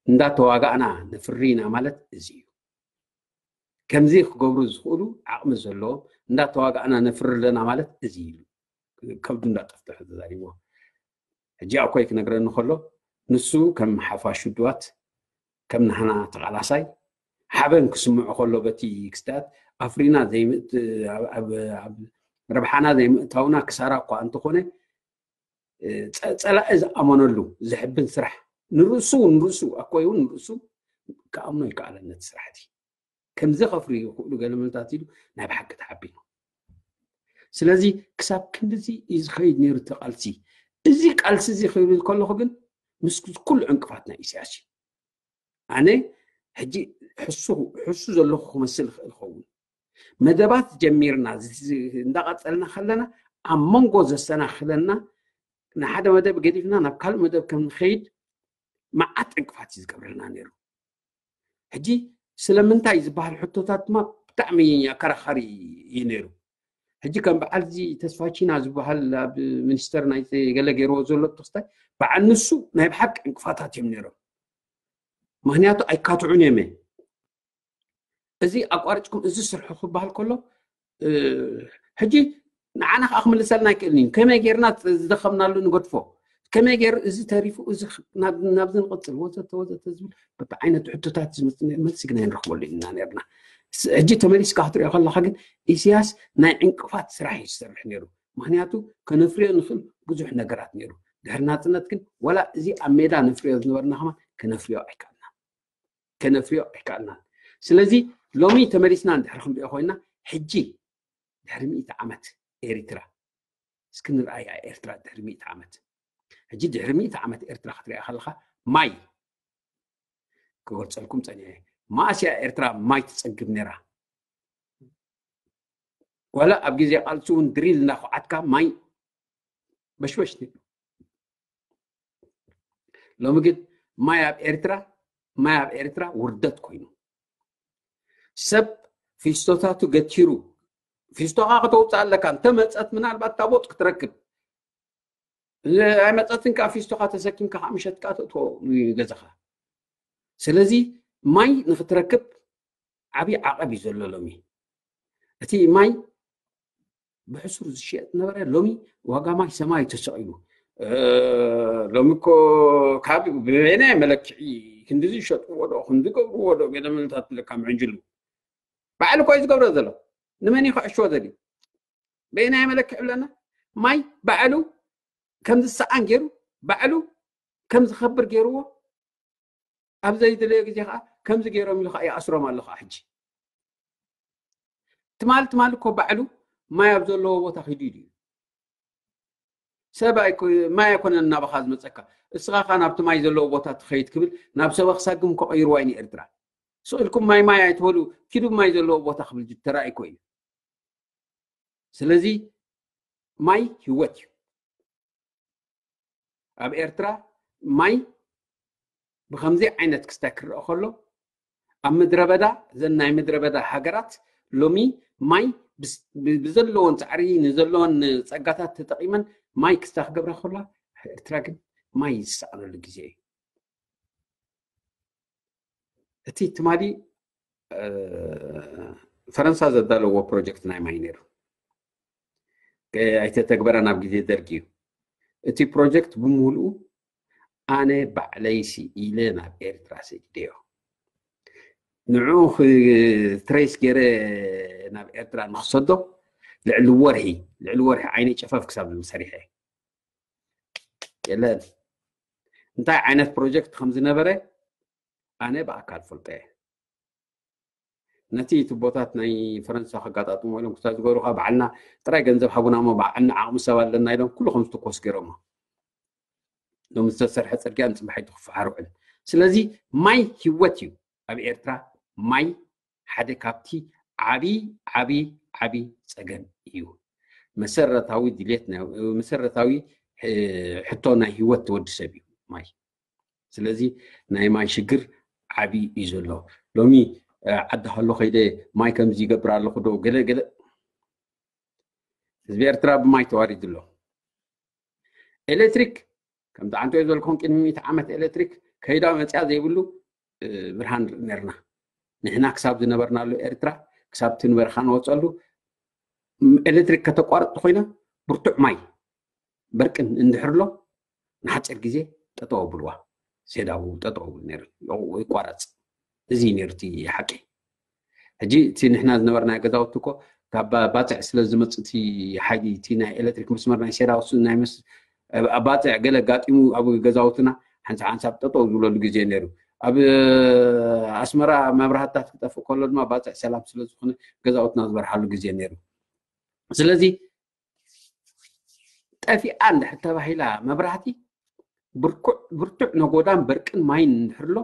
እንዳተዋጋእና ነፍሪ ኢና ማለት እዚ እዩ። ከምዚ ክገብሩ ዝኽእሉ ዓቕሚ ዘለዎም እንዳተዋጋእና ነፍሪ ኣለና ማለት እዚ ኢሉ ከብዱ እንዳጠፍጠፈ ተዛሪብዎ። ሕጂ ኣኮይ ክነግረኒ ከሎ ንሱ ከም ሓፋሽ ውድባት ከም ናህና ተቓላሳይ ሓበን ክስምዖ ከሎ በቲ ክስታት ኣፍሪና ረብሓና ዘይምእታውና ክሳራ እኳ እንተኾነ ፀላኢ ዝኣመነሉ ዘሕብን ስራሕ ንርእሱ ንርእሱ ኣኮይ እውን ንርእሱ ክኣምኖ ይከኣለን ነቲ ስራሕቲ ከምዚ ከፍሪ ይኽእሉ ገለ ምልታት ኢሉ ናይ ብሓቂ ተሓቢኑ። ስለዚ ክሳብ ክንድዚ እዩ ዝኸይድ ነይሩ እቲ ቃልሲ። እዚ ቃልሲ እዚ ክብል ከለኹ ግን ምስ ኩሉ ዕንቅፋት ናይ ኢሳያስ እዩ። ኣነ ሕጂ ሕሱ ዘለኹ ክመስል ይኽእል ኸውን። መደባት ጀሚርና እንዳቐፀልና ከለና ኣብ መንጎ ዘሰናኽለና ንሓደ መደብ ገዲፍና ናብ ካልእ መደብ ከም ንኸይድ መዓት ዕንቅፋት እዩ ዝገብረልና ነይሩ። ሕጂ ስለምንታይ ዝበሃል ሕቶታት ድማ ብጣዕሚ ኣከራኻሪ እዩ ነይሩ። ሕጂ ከም በዓል እዚ ተስፋቺና ዝበሃል ኣብ ሚኒስተር ናይ ገለ ገይርዎ ዘሎ ተክስታይ በዓል ንሱ ናይ ብሓቂ ዕንቅፋታት እዮም ነይሮም። ምክንያቱ ኣይካትዑን እዮም እዚ ኣቋሪፅኩም እዚ ስርሑ ክበሃል ከሎ ሕጂ ንዓና ከዓ ክምልሰልና ኣይክእልን እዩ። ከመይ ጌርና ዝደኸምናሉ ንገድፎ፣ ከመይ ገይሩ እዚ ተሪፉ እዚ ናብዚ ንቕፅል ወዘተ ወዘተ ዝብል በብዓይነቱ ሕቶታት ዝመፅእ መልሲ ግን ኣይንረኽበሉ ኢና ነርና። ሕጂ ተመሊስካ ክትሪኦ ከለካ ግን ኢሳያስ ናይ ዕንቅፋት ስራሕ እዩ ዝሰርሕ ነይሩ። ምክንያቱ ከነፍርዮ ንኽእል ብዙሕ ነገራት ነይሩ። ድሕሪ ናፅነት ግን ዋላ እዚ ኣብ ሜዳ ነፍርዮ ዝነበርና ከማ ከነፍርዮ ኣይከኣልና ከነፍርዮ ኣይከኣልናን። ስለዚ ሎሚ ተመሊስና እንድሕር ክንሪኦ ኮይና ሕጂ ድሕሪ ሚእቲ ዓመት ኤሪትራ እስኪ ንርኣያ ኤርትራ ድሕሪ ሚእቲ ዓመት ሕጂ ድሕሪ ሚእቲ ዓመት ኤርትራ ክትሪኣ ከለካ ማይ ክገልፀልኩም ፀኒዐ ማእስያ ኤርትራ ማይ ትፀግብ ነይራ ዋላ ኣብ ግዜ ቃልሲ እውን ድሪል እናኩዓትካ ማይ በሽበሽ ነይሩ ሎሚ ግን ማይ ኣብ ኤርትራ ማይ ኣብ ኤርትራ ውርደት ኮይኑ ሰብ ፊስቶታቱ ገቲሩ ፊስቶኻ ከተውፅእ ኣለካ እንተመፀት ምናልባት ታቦጥ ክትረክብ ኣይመፀትን ከዓ ፊስቶኻ ተሰኪምካ ከዓ ምሸት ከዓ ተእትዎ ገዛኻ ስለዚ ማይ ንክትረክብ ዓብዪ ዓቐብ እዩ ዘሎ ሎሚ እቲ ማይ ብሕሱር ዝሽየጥ ነበረ ሎሚ ዋጋ ማይ ሰማይ ተሰቒሉ ሎሚ እኮ ካብ ብበይናይ መለክዒ ክንዲ ዝሸጥዎ ዶ ክንዲ ገብርዎ ዶ ገለ ምንታት ለካ ምዕንጅሉ ባዕሉ እኮ እዩ ዝገብሮ ዘሎ ንመን እዩ ክዕሽዎ ዘድዩ በየናይ መለክዒ ብለና ማይ ባዕሉ ከም ዝሰኣን ገይሩ ባዕሉ ከም ዝኸብር ገይርዎ ኣብ ዘይድለዮ ግዜ ከዓ ከምዚ ገይሮም ኢሉ ከዓ ይኣስሮም ኣሎ ከዓ ሕጂ ትማል ትማል እኮ ባዕሉ ማይ ኣብ ዘለዎ ቦታ ኪዱ ኢሉ እዩ ሰብ ማይ ኣይኮነን እናባኻ ዝመፀካ እስኻ ካ ናብቲ ማይ ዘለዎ ቦታ ትኸይድ ክብል ናብ ሰበ ክሳግም ከቐይርዋ እዩ ንኤርትራ ስቕ ኢልኩም ማይ ማይ ኣይትበሉ ኪዱ ማይ ዘለዎ ቦታ ክብል ተራእይ እኮ እዩ ስለዚ ማይ ህይወት እዩ ኣብ ኤርትራ ማይ ብከምዚ ዓይነት ክስታይ ክረአ ከሎ ኣብ ምድረ በዳ ዘን ናይ ምድረ በዳ ሃገራት ሎሚ ማይ ብዘለዎን ፃዕሪ ንዘለዎን ፀጋታት ተጠቂመን ማይ ክስታ ክገብራ ከላ፣ ኤርትራ ግን ማይ ዝሰኣነሉ ግዜ እዩ። እቲ ትማሊ ፈረንሳ ዘዳለዎ ፕሮጀክት ናይ ማይ ነይሩ፣ ኣይተተግበረ ናብ ግዜ ደርጊ እዩ። እቲ ፕሮጀክት ብምሉኡ ኣነ ባዕለይ ስኢለ ናብ ኤርትራ ሰዲደዮ። ንዑ ትሬስ ገይረ ናብ ኤርትራ ንክሰዶ ልዕሊ ወርሒ ልዕሊ ወርሒ ዓይነይ ጨፈፍ ክሳብ ዝብል ሰሪሐ። የለን እንታይ ዓይነት ፕሮጀክት ከም ዝነበረ ኣነ ብኣካል ፈልጦ እየ። ነቲ ቱቦታት ናይ ፈረንሳ ከጋጣጥሞ ኢሎም ክሳብ ዝገበሩ ከዓ በዓልና ጥራይ ገንዘብ ሃቡና እሞ በዓልና ዓቕሚ ሰብ ኣለና ኢሎም ኩሉ ከም ዝትኮስ ገይሮሞ። ሎም ዝተሰርሐ ፅርግያ ንፅባሒቱ ክፈሓር ውዕል። ስለዚ ማይ ህይወት እዩ። ኣብ ኤርትራ ማይ ሓደ ካብቲ ዓብዪ ዓብዪ ዓብዪ ፀገም እዩ። መሰረታዊ ድሌት መሰረታዊ ሕቶ ናይ ህይወት ትወዲ ሰብ እዩ ማይ። ስለዚ ናይ ማይ ሽግር ዓብዪ እዩ ዘሎ። ሎሚ ዓዲ ሃሎ ከይደ ማይ ከምዚ ይገብር ኣለኹ ዶ ገለ ገለ ህዝቢ ኤርትራ ብማይ ተዋሪዱ ኣሎ። ኤሌክትሪክ ከምቲ ዓንቶ ዝበልኩም ቅድሚ ሚእቲ ዓመት ኤሌክትሪክ ከይዳ መፅያ ዘይብሉ ብርሃን ንርኢ ነርና። ንሕና ክሳብ ዝነበርናሉ ኤርትራ ክሳብ እቲ ንበረኻ ንወፀሉ ኤሌክትሪክ ከተቋርጥ ኮይና ብርቱዕ ማይ በርቅን እንድሕር ኣሎ ንሓፂር ግዜ ጠጠው ኣብልዋ። ሴዳው ጠጠው ነይሩ ይቋረፅ። እዚ ነይሩ እቲ ሓቂ። ሕጂ እቲ ንሕና ዝነበርናዮ ገዛውቲ እኮ ካብ ባፅዕ ስለ ዝመፅእ እቲ ሓይሊ እቲ ናይ ኤሌክትሪክ መስመር ናይ ሴዳው ናይ ኣብ ባፅዕ ገለ ኣጋጢሙ ኣብ ገዛውትና ሓንሳብ ሓንሳብ ጠጠው ዝብለሉ ግዜ ነይሩ። ኣብ ኣስመራ መብራህትታት ክጠፍእ ከሎ ድማ ባፅዕ ሰላም ስለ ዝኾነ ገዛውትና ዝበርሃሉ ግዜ ነይሩ። ስለዚ ጠፊኣ እንድሕር ተባሂላ መብራህቲ ብርኩዕ ብርቱዕ ነጎዳን በርቅን ማይን እንድሕር ኣሎ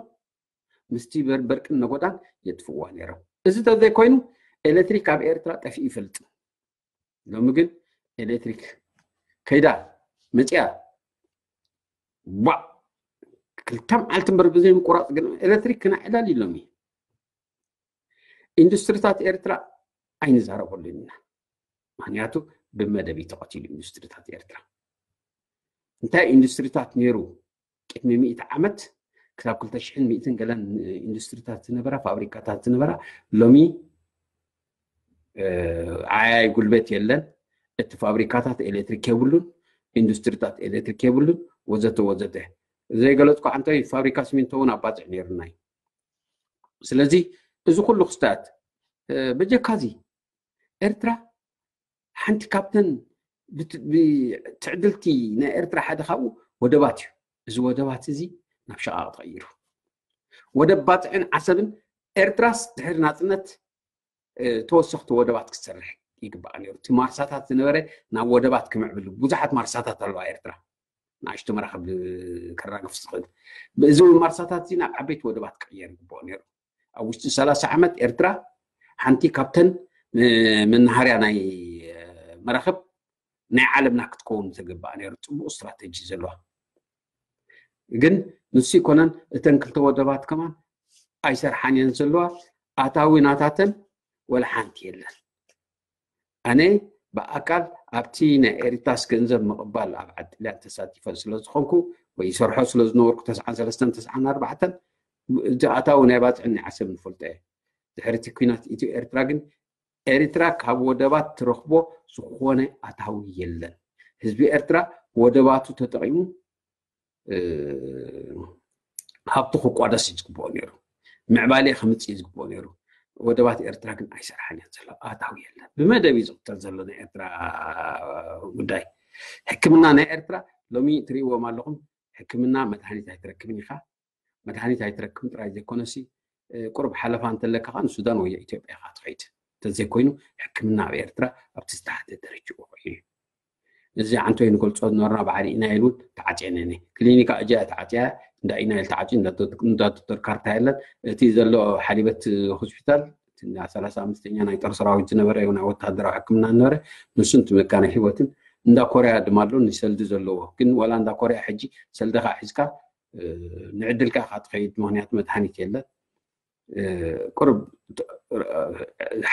ምስቲ በርቅን ነጎዳን የጥፍዋ ነይሮም። እዚ ተዘይኮይኑ ኤሌክትሪክ ኣብ ኤርትራ ጠፊኡ ይፈልጥ። ሎሚ ግን ኤሌክትሪክ ከይዳ መፅያ ባ ክልተ መዓልቲ እምበር ብዘይ ምቁራፅ ግን ኤሌክትሪክ ክና ዕላል ኢሎም እዩ። ኢንዱስትሪታት ኤርትራ ኣይንዛረበሉ ኢና። ምክንያቱ ብመደብ ተቐቲሉ ኢንዱስትሪታት ኤርትራ። እንታይ ኢንዱስትሪታት ነይሩ ቅድሚ ሚእቲ ዓመት ክሳብ ክልተ ሽሕን ሚእትን ገለን ኢንዱስትሪታት ዝነበራ ፋብሪካታት ዝነበራ ሎሚ ዓያይ ጉልበት የለን። እቲ ፋብሪካታት ኤሌክትሪክ የብሉን፣ ኢንዱስትሪታት ኤሌክትሪክ የብሉን ወዘተ ወዘተ። ዘይገለፅኩ ዓንተይ ፋብሪካ ሲሚንቶ እውን ኣባፅዕ ነይሩና እዩ። ስለዚ እዚ ኩሉ ክስታት በጀካዚ ኤርትራ ሓንቲ ካብተን ትዕድልቲ ናይ ኤርትራ ሓደ ካብኡ ወደባት እዩ። እዚ ወደባት እዚ ናብ ሸቓቕ ተቐይሩ። ወደብ ባፅዕን ዓሰብን ኤርትራስ ድሕሪ ናፅነት ተወሰኽቲ ወደባት ክትሰርሕ ይግባእ ነይሩ። እቲ ማርሳታት ዝነበረ ናብ ወደባት ክምዕብል ብዙሓት ማርሳታት ኣለዋ ኤርትራ ንኣሽቱ መራኽብ ከራግፍ ዝኽእል እዚ ማርሳታት እዚ ናብ ዓበይቲ ወደባት ክቕየር ይግባኦ ነይሩ። ኣብ ውሽጢ ሰላሳ ዓመት ኤርትራ ሓንቲ ካብተን መናሃርያ ናይ መራኽብ ናይ ዓለምና ክትከውን ዝግባእ ነይሩ። ፅቡቅ ስትራተጂ ዘለዋ ግን ንሱ ይኮነን። እተን ክልተ ወደባት ከማን ኣይሰርሓን እየን ዘለዋ። ኣታዊ ናታተን ወላ ሓንቲ የለን። ኣነ ብኣካል ኣብቲ ናይ ኤሪታስ ገንዘብ ምቕባል ኣብ ዓዲ ጥልያን ተሳቲፈ ስለ ዝኾንኩ ወይ ይሰርሖ ስለ ዝነበርኩ ተስዓን ሰለስተን ተስዓን ኣርባዕተን እቲ ኣታዊ ናይ ባፅዕን ናይ ዓሰብ ንፈልጦ እየ። ድሕሪ እቲ ኩናት ኢትዮ ኤርትራ ግን ኤሪትራ ካብ ወደባት ትረኽቦ ዝኾነ ኣታዊ የለን። ህዝቢ ኤርትራ ወደባቱ ተጠቒሙ ሃብቱ ክቋደስ እዩ ዝግብኦ ነይሩ። ምዕባሌ ከምፅእ እዩ ዝግብኦ ነይሩ። ወደባት ኤርትራ ግን ኣይሰርሓን እየን ዘሎ። ኣታዊ የለን። ብመደብ እዩ ዝቕተል ዘሎ ናይ ኤርትራ ጉዳይ። ሕክምና ናይ ኤርትራ ሎሚ ትርእይዎም ኣለኹም። ሕክምና መድሃኒት ኣይትረክብን ኢኻ። መድሃኒት ኣይትረክብን ጥራይ ዘይኮነሲ ቁሩብ ሓለፋ እንተለካ ከዓ ንሱዳን ወይ ኢትዮጵያ ኢኻ ትኸይድ። እንተዘይኮይኑ ሕክምና ኣብ ኤርትራ ኣብቲ ዝተሓተ ደረጅኡ ኮይኑ እዩ። እዚ ዓንቶይ ንገልፆ ዝነበርና ባዕሪ ኢና ኢሉ ተዓፅየን እኔ ክሊኒካ እጃ ተዓፅያ እንዳ ኢና ኢል ተዓፅዩ እንዳ ዶክተር ካርታ የለን። እቲ ዘሎ ሓሊበት ሆስፒታል ሰላሳ ኣምስተኛ ናይ ጦር ሰራዊት ዝነበረ ናይ ወታደራዊ ሕክምና ዝነበረ ንሱን ትመካነ ህይወትን እንዳ ኮርያ ድማ ኣሎ ንሰልዲ ዘለዎ ግን ዋላ እንዳ ኮርያ ሕጂ ሰልድኻ ሒዝካ ንዕድልካ ኢኻ ትኸይድ ምክንያቱ መድሃኒት የለን። ቁርብ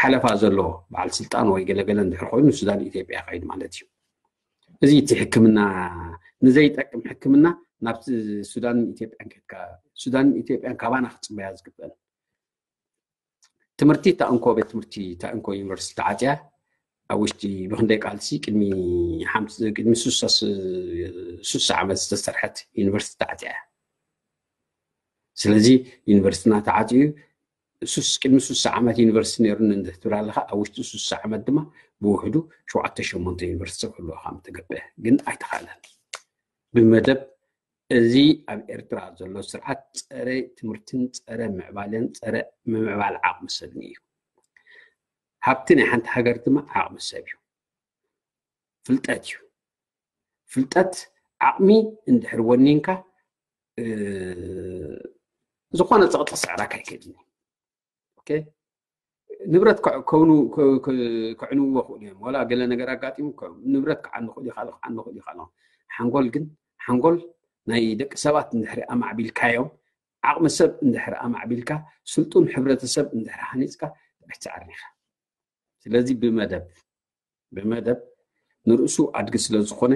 ሓለፋ ዘለዎ በዓል ስልጣን ወይ ገለገለ እንድሕር ኮይኑ ሱዳን ኢትዮጵያ ከይድ ማለት እዩ። እዚ እቲ ሕክምና ንዘይጠቅም ሕክምና ናብ ሱዳን ኢትዮጵያን ከድካ ሱዳን ኢትዮጵያን ካባና ክፅበያ ዝግበአን ትምህርቲ ታእንኮ ቤት ትምህርቲ ታእንኮ ዩኒቨርሲቲ ተዓፅያ ኣብ ውሽጢ ብክንደይ ቃልሲ ቅድሚ ቅድሚ ሱሳ ዓመት ዝተሰርሐት ዩኒቨርሲቲ ተዓፅያ እያ። ስለዚ ዩኒቨርሲቲና ተዓፅዩ ቅድሚ ሱሳ ዓመት ዩኒቨርሲቲ ነይሩኒ እንድትብል ኣለካ ኣብ ውሽጢ ሱሳ ዓመት ድማ ብውሕዱ ሸውዓተ ሸሞንተ ዩኒቨርሲቲ ክህልወካ ምተገበ ግን ኣይተኻለን። ብመደብ እዚ ኣብ ኤርትራ ዘሎ ስርዓት ፀረ ትምህርትን ፀረ ምዕባለን ፀረ ምምዕባል ዓቕሚ ሰብን እዩ። ሃብቲ ናይ ሓንቲ ሃገር ድማ ዓቕሚ ሰብ እዩ። ፍልጠት እዩ። ፍልጠት ዓቕሚ እንድሕር ወኒንካ ዝኾነ ፀቕጢ ስዕራካ ኣይከድን። ንብረት ከዕንዎ ክእሉ እዮም። ዋላ ገለ ነገር ኣጋጢሙ ንብረት ክዓኑ ክእሉ ይኽእል ክዓኑ ክእሉ ይኽእል። ሓንጎል ግን ሓንጎል ናይ ደቂ ሰባት እንድሕሪ ኣማዕቢልካዮም ዓቕሚ ሰብ እንድሕሪ ኣማዕቢልካ ስልጡን ሕብረተሰብ እንድሕሪ ሃኒፅካ ትዕርኒ ኢኻ። ስለዚ ብመደብ ብመደብ ንርእሱ ኣድጊ ስለ ዝኾነ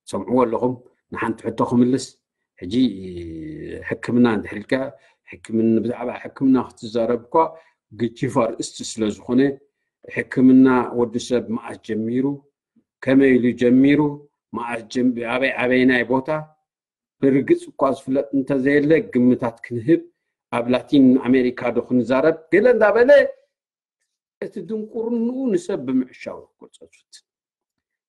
ሰምዕዎ ኣለኹም። ንሓንቲ ሕቶ ክምልስ ሕጂ ሕክምና እንድሕር ኢልካ ሕክምና ብዛዕባ ሕክምና ክትዛረብ እኳ ግጅፍ ኣርእስቲ ስለ ዝኾነ ሕክምና ወዲ ሰብ መዓስ ጀሚሩ ከመይ ኢሉ ጀሚሩ መዓስ ኣበይ ኣበይናይ ቦታ ብርግፅ እኳ ዝፍለጥ እንተዘየለ ግምታት ክንህብ ኣብ ላቲን ኣሜሪካ ዶ ክንዛረብ ገለ እንዳበለ እቲ ድንቁርንኡ ንሰብ ብምዕሻው ይቆፀጹት።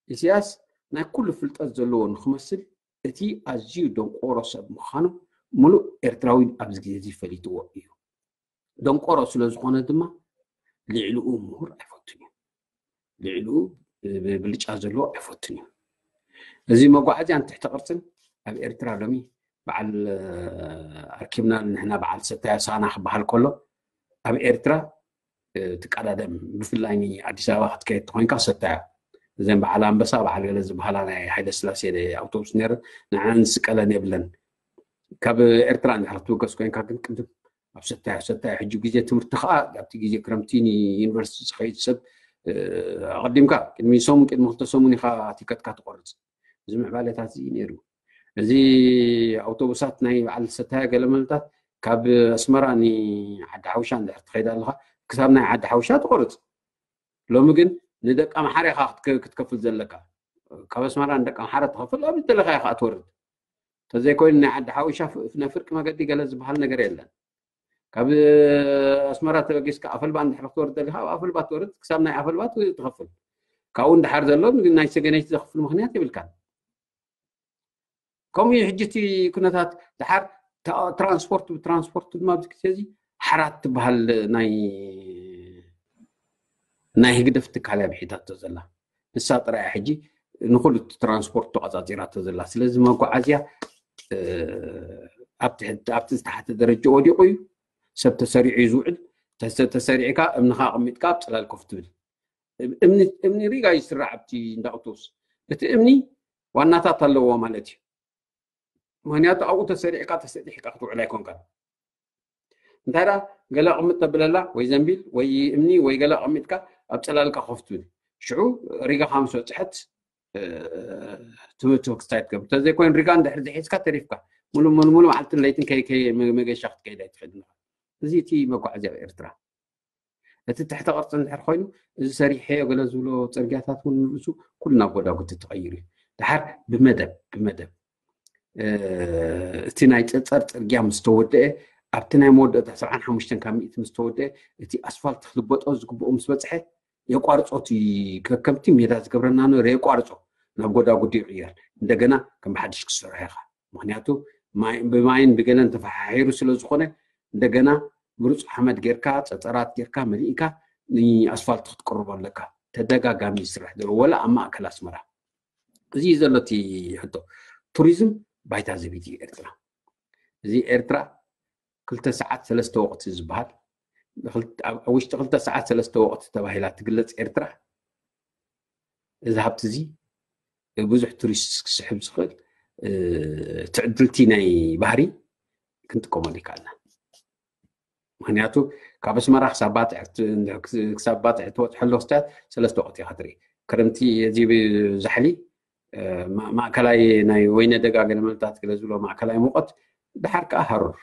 ኢሳያስ ናይ ኩሉ ፍልጠት ዘለዎ ንክመስል እቲ ኣዝዩ ደንቆሮ ሰብ ምዃኑ ሙሉእ ኤርትራዊ ኣብዚ ግዜ እዚ ፈሊጥዎ እዩ። ደንቆሮ ስለ ዝኾነ ድማ ልዕልኡ ምሁር ኣይፈቱን እዩ። ልዕልኡ ብልጫ ዘለዎ ኣይፈቱን እዩ። እዚ መጓዓዝያን ትሕቲ ቅርፅን ኣብ ኤርትራ ሎሚ በዓል ኣርኪብና ንሕና በዓል ሰታያ ሳና ክበሃል ከሎ ኣብ ኤርትራ ትቀዳደም ብፍላይ ኣዲስ ኣበባ ክትከየድ ተኮይንካ ሰታያ እዘን በዓል ኣንበሳ በዓል ገለ ዝበሃላ ናይ ሓይለ ስላሴ ኣውቶቡስ ነይረ ንዓን ስቀለን የብለን ካብ ኤርትራ እንድሕር ክትብገስ ኮይንካ ግን ቅድም ኣብ ሰታያ ሰታያ ሕጂ ግዜ ትምህርቲ ከዓ ኣብቲ ግዜ ክረምቲ ዩኒቨርሲቲ ዝኸይድ ሰብ ኣቐዲምካ ቅድሚ ሰሙን ቅድሚ ክልተ ሰሙን ኢኻ ቲከትካ ትቆርፅ እዚ ምዕባለታት እዚ ነይሩ እዚ ኣውቶቡሳት ናይ በዓል ሰታያ ገለመለታት ካብ ኣስመራ ንዓዲ ሓውሻ እንድሕር ትኸይድ ኣለኻ ክሳብ ናይ ዓዲ ሓውሻ ትቆርፅ ሎሚ ግን ንደቂ ኣምሓራ ኢኻ ክትከፍል ዘለካ ካብ ኣስመራ ንደቂ ኣምሓራ ትኸፍል ኣብ ዝተለካ ኢኻ ትወርድ ተዘይኮይኑ ናይ ዓዲ ሓውሻ ናይ ፍርቂ መገዲ ገለ ዝበሃል ነገር የለን ካብ ኣስመራ ተበጊስካ ኣፈልባ እንድሕር ክትወርድ ደሊካ ኣብ ኣፈልባ ትወርድ ክሳብ ናይ ኣፈልባ ትኸፍል ካብኡ እንድሓር ዘሎ ናይ ሰገነይቲ ዘኽፍል ምክንያት የብልካን ከምኡ እዩ ሕጂ እቲ ኩነታት ድሓር ትራንስፖርት ብትራንስፖርት ድማ ኣብዚ ግዜ እዚ ሓራት ትበሃል ናይ ናይ ህግደፍ ትካል እያ ብሒታቶ ዘላ ንሳ ጥራይ ሕጂ ንኩሉ ትራንስፖርት ተቆፃፂራቶ ዘላ ስለዚ መጓዓዝያ ኣብቲ ዝተሓተ ደረጃ ወዲቁ እዩ ሰብ ተሰሪዑ እዩ ዝውዕል ተሰሪዕካ እምንካ ኣቅሚጥካ ኣብ ፅላል ኮፍ ትብል እምኒ ሪጋ ይስራዕ ኣብቲ እንዳቅቶስ እቲ እምኒ ዋናታት ኣለዎ ማለት እዩ ምክንያቱ ኣብኡ ተሰሪዕካ ተሰጢሕካ ክትውዕል ኣይኮንካን እንታይ ዳ ገለ ኣቕምጥ ተብለላ ወይ ዘንቢል ወይ እምኒ ወይ ገለ ኣቐሚጥካ ኣብ ፀላልካ ኮፍ ትብል ሽዑ ሪጋኻ ምስ በፅሐት ትምህርቲ ክስታይ ትገብር ተዘይኮይን ሪጋ እንድሕር ዝሒዝካ ተሪፍካ ሙሉ ሙሉ ሙሉ መዓልትን ለይትን መገሻ ክትከይድ ኣይትኽእል እዚ እቲ መጓዓዝያ ኣብ ኤርትራ እቲ ትሕተ ቅርፂ እንድሕር ኮይኑ እዚ ሰሪሐዮ ገለ ዝብሎ ፅርግያታት እውን ንርእሱ ኩሉ ናብ ጎዳጉዲ ተቐይሩ እዩ ድሓር ብመደብ ብመደብ እቲ ናይ ፀፀር ፅርግያ ምስ ተወደአ ኣብቲ ናይ መወዳእታ ሰብዓን ሓሙሽተን ካብ ሚእቲ ምስ ተወደአ እቲ ኣስፋልት ክልበጦ ዝግብኦ ምስ በፅሐ የቋርፆ እቲ ከከምቲ ሜዳ ዝገብረና ነበረ የቋርፆ ናብ ጎዳጉዲ ይቕየር እንደገና ከም ብሓድሽ ክሰርሖ ኢኻ ምክንያቱ ብማይን ብገለን ተፈሓሒሩ ስለ ዝኾነ እንደገና ምሩፅ ሓመድ ጌርካ ፀፀራት ጌርካ መሊእካ ንኣስፋልት ክትቅርቦ ኣለካ ተደጋጋሚ ይስራሕ ዘሎ ወላ ኣብ ማእከል ኣስመራ እዚ እዩ ዘሎ እቲ ሕቶ ቱሪዝም ባይታ ዘቢት እዩ ኤርትራ እዚ ኤርትራ ክልተ ሰዓት ሰለስተ ወቅቲ ዝበሃል ኣብ ውሽጢ ክልተ ሰዓት ሰለስተ ወቅቲ ተባሂላ ትግለፅ ኤርትራ እዚ ሃብቲ እዚ ብዙሕ ቱሪስት ክስሕብ ዝኽእል ትዕድልቲ ናይ ባህሪ ክንጥቀመሉ ይከኣልና ምክንያቱ ካብ ኣስመራ ክሳብ ባፅዕ ክሳብ ባፅዕ ትበፅሐሉ ክስታት ሰለስተ ወቅቲ ኢካ ትርኢ። ክረምቲ እዚ ዛሕሊ ማእከላይ ናይ ወይነ ደጋ ገለመልታት ገለ ዝብሎ ማእከላይ ሙቐት፣ ድሓር ከዓ ሃሩር።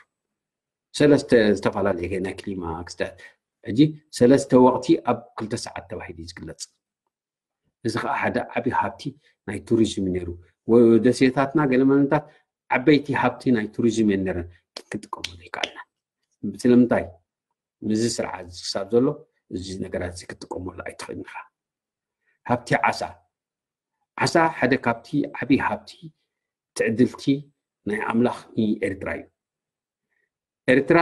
ሰለስተ ዝተፈላለየ ናይ ክሊማ ክስታት። ሕጂ ሰለስተ ወቅቲ ኣብ ክልተ ሰዓት ተባሂሉ እዩ ዝግለፅ። እዚ ከዓ ሓደ ዓብዪ ሃብቲ ናይ ቱሪዝም ነይሩ። ደሴታትና ገለመለታት ዓበይቲ ሃብቲ ናይ ቱሪዝም እየን ነረን፣ ግን ክጥቀመሉ ይከኣልና። ስለምንታይ? ምስዚ ስርዓት ክሳብ ዘሎ እዚ ነገራት እዚ ክትጥቀመሉ ኣይትኽእልን ኢኻ። ሃብቲ ዓሳ። ዓሳ ሓደ ካብቲ ዓብዪ ሃብቲ ትዕድልቲ ናይ ኣምላኽ ንኤርትራ እዩ። ኤርትራ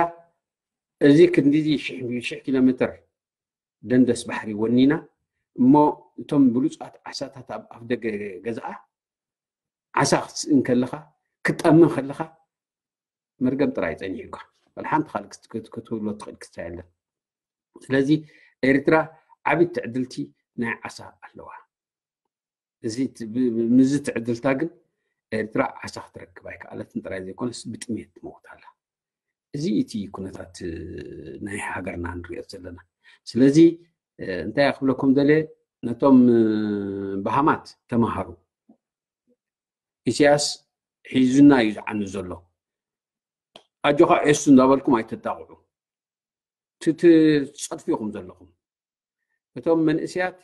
እዚ ክንዲዚ ሽሕ ኪሎ ሜትር ደንደስ ባሕሪ ወኒና እሞ እቶም ብሉፃት ዓሳታት ኣብ ኣፍ ደገ ገዛኣ ዓሳ ክትስእን ከለኻ ክትጠምን ከለኻ መርገም ጥራይ ጸኒሑካ። ወላ ሓንቲ ካልእ ክትብሎ ትኽእል ክስታይ የለን። ስለዚ ኤርትራ ዓቢ ትዕድልቲ ናይ ዓሳ ኣለዋ። እዚ ምስዚ ትዕድልታ ግን ኤርትራ ዓሳ ክትረክብ ኣይከኣለትን ጥራይ ዘይኮነስ ብጥሜት ትመውት ኣላ። እዚ እቲ ኩነታት ናይ ሃገርና ንሪኦ ዘለና። ስለዚ እንታይ ክብለኩም ደልየ፣ ነቶም በሃማት ተምሃሩ። ኢሳያስ ሒዙና እዩ ዝዓኑ ዘሎ። ኣጆኻ ኤሱ እንዳበልኩም ኣይተጣቕዑ። ትጸድፉ ኢኹም ዘለኹም። እቶም መንእሰያት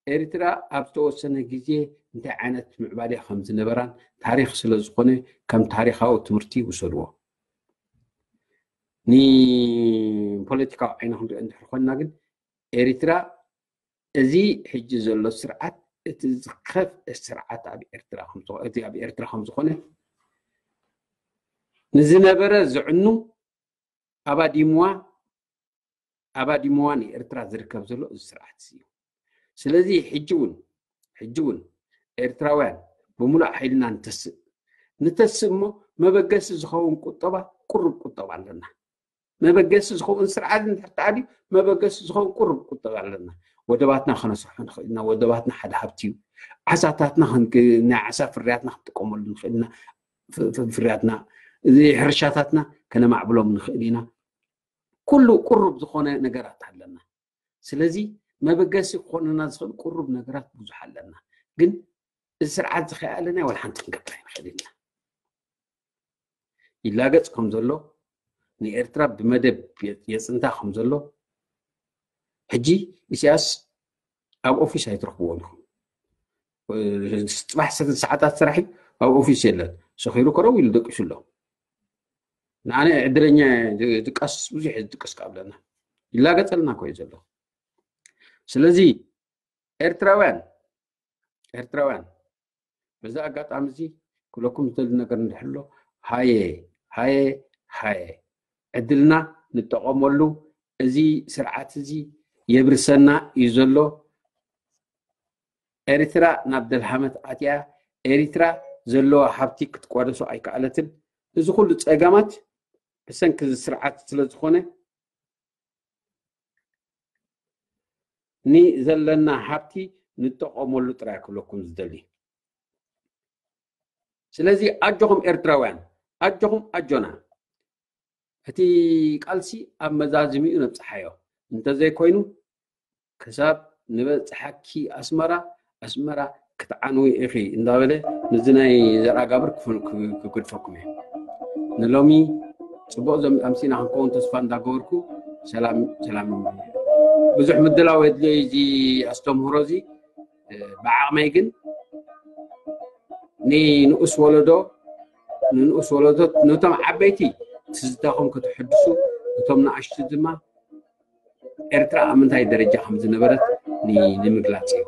ኤርትራ ኣብ ዝተወሰነ ግዜ እንታይ ዓይነት ምዕባለ ከም ዝነበራን ታሪኽ ስለ ዝኾነ ከም ታሪኻዊ ትምህርቲ ይውሰድዎ። ንፖለቲካዊ ዓይኒ ክንሪኦ እንድሕር ኮይንና ግን ኤርትራ እዚ ሕጂ ዘሎ ስርዓት እቲ ዝኸፍአ ስርዓት ኣብ ኤርትራ ከም ዝኾነ ንዝነበረ ዝዕኑ ኣባዲምዋ ኣባዲምዋ ንኤርትራ ዝርከብ ዘሎ እዚ ስርዓት እዩ። ስለዚ ሕጂ እውን ሕጂ እውን ኤርትራውያን ብምሉእ ሓይልና ንተስእ ንተስእ እሞ መበገሲ ዝኸውን ቁጠባ ቁሩብ ቁጠባ ኣለና። መበገሲ ዝኸውን ስርዓት እንድሕር ተኣልዩ መበገሲ ዝኸውን ቁሩብ ቁጠባ ኣለና። ወደባትና ከነስርሖ ንኽእል ኢና። ወደባትና ሓደ ሃብቲ እዩ። ዓሳታትና ናይ ዓሳ ፍርያትና ክንጥቀመሉ ንኽእል ኢና። ፍርያትና እዚ ሕርሻታትና ከነማዕብሎም ንኽእል ኢና። ኩሉ ቁሩብ ዝኾነ ነገራት ኣለና። ስለዚ መበገሲ ክኾነና ዝኽእል ቁሩብ ነገራት ብዙሕ ኣለና። ግን እዚ ስርዓት እዚ ከይኣለና ወላ ሓንቲ ክንገብር ኣይንኽእል ኢና። ይላገፅ ከም ዘሎ ንኤርትራ ብመደብ የፅንታ ከም ዘሎ ሕጂ ኢሳያስ ኣብ ኦፊስ ኣይትረኽብዎን ኢኹም። ፅባሕ ሰዓታት ስራሕ ኣብ ኦፊስ የለን። ሰኺሩ ከረው ኢሉ ደቂሱ ኣሎ። ንኣነ ዕድለኛ ድቃስ ብዙሕ ድቅስ ካብለና ይላገፀልና ኮዩ ዘሎ። ስለዚ ኤርትራውያን ኤርትራውያን በዚ ኣጋጣሚ እዚ ክብለኩም ዝደሊ ነገር እንድሕሎ ሃየ ሃየ ሃየ ዕድልና ንጠቐመሉ። እዚ ስርዓት እዚ የብርሰና እዩ ዘሎ። ኤርትራ ናብ ደልሃመት ኣትያ። ኤርትራ ዘለዋ ሃብቲ ክትቋደሶ ኣይከኣለትን። እዚ ኩሉ ፀገማት ብሰንኪ እዚ ስርዓት ስለ ዝኾነ ንዘለና ሃብቲ ንጠቐመሉ ጥራይ ክብለኩም ዝደሊ። ስለዚ ኣጆኹም ኤርትራውያን ኣጆኹም ኣጆና። እቲ ቃልሲ ኣብ መዛዝሚኡ ነብፅሓዮ እንተዘይኮይኑ ክሳብ ንበፅሓኪ ኣስመራ ኣስመራ ክትዓንዊ ኢኺ እንዳበለ ምስዚ ናይ ዘርኣጋብር ክግድፈኩም እየ። ንሎሚ ፅቡቕ ኣምሲና ክንከውን ተስፋ እንዳገበርኩ ሰላም ሰላም። ብዙሕ ምድላው የድልዮ እዚ ኣስተምህሮ እዚ። ብዓቕመይ ግን ንንኡስ ወለዶ ንንኡስ ወለዶ ነቶም ዓበይቲ ትዝታኹም ክትሕድሱ እቶም ንኣሽቱ ድማ ኤርትራ ኣብ ምንታይ ደረጃ ከም ዝነበረት ንምግላፅ እዩ።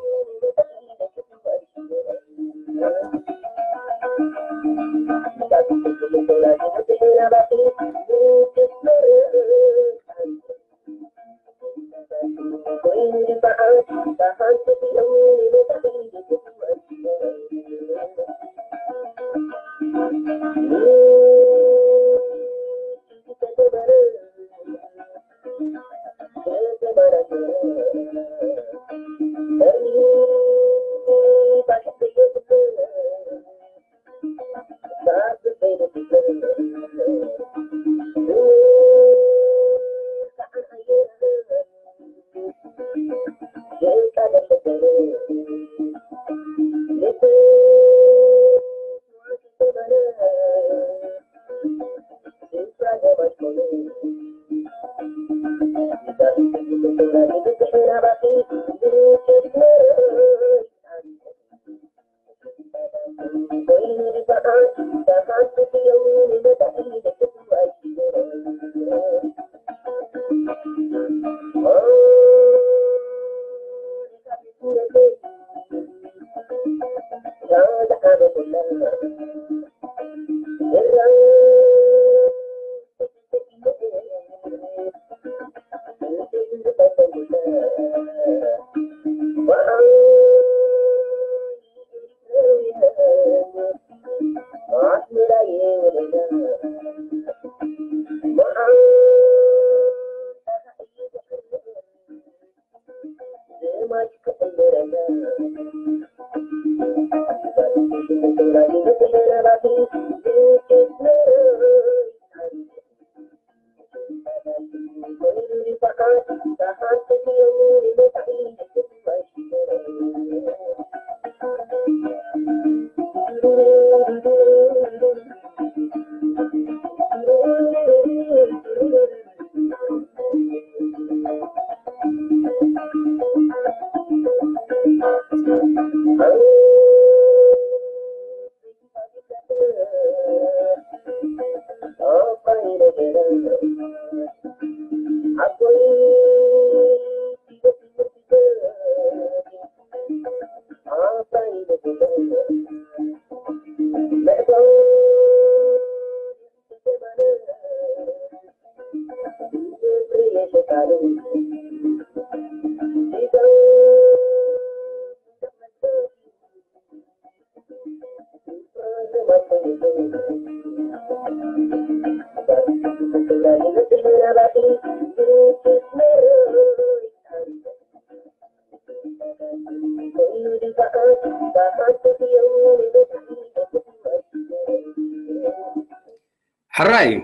ሕራይ እዩ።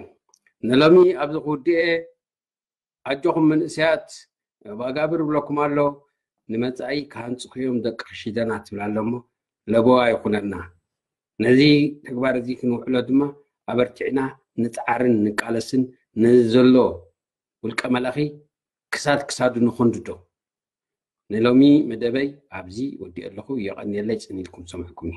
ንሎሚ ኣብዚ ክውድኤ፣ ኣጆኹም መንእሰያት፣ ባጋብር ብለኩም ኣሎ። ንመጻኢ ክሃንጽኹ እዮም ደቂ ርሽደና ትብል ኣሎ እሞ፣ ለበዋ ይኹነና። ነዚ ተግባር እዚ ክንውዕሎ ድማ ኣበርቲዕና ንጽዓርን ንቃለስን፣ ነዚ ዘሎ ውልቀ መላኺ ክሳድ ክሳዱ ንኾንድዶ። ንሎሚ መደበይ ኣብዚ ወዲኤ ኣለኹ። የቐንየለይ ጽን ኢልኩም ሰምዕኩምኒ።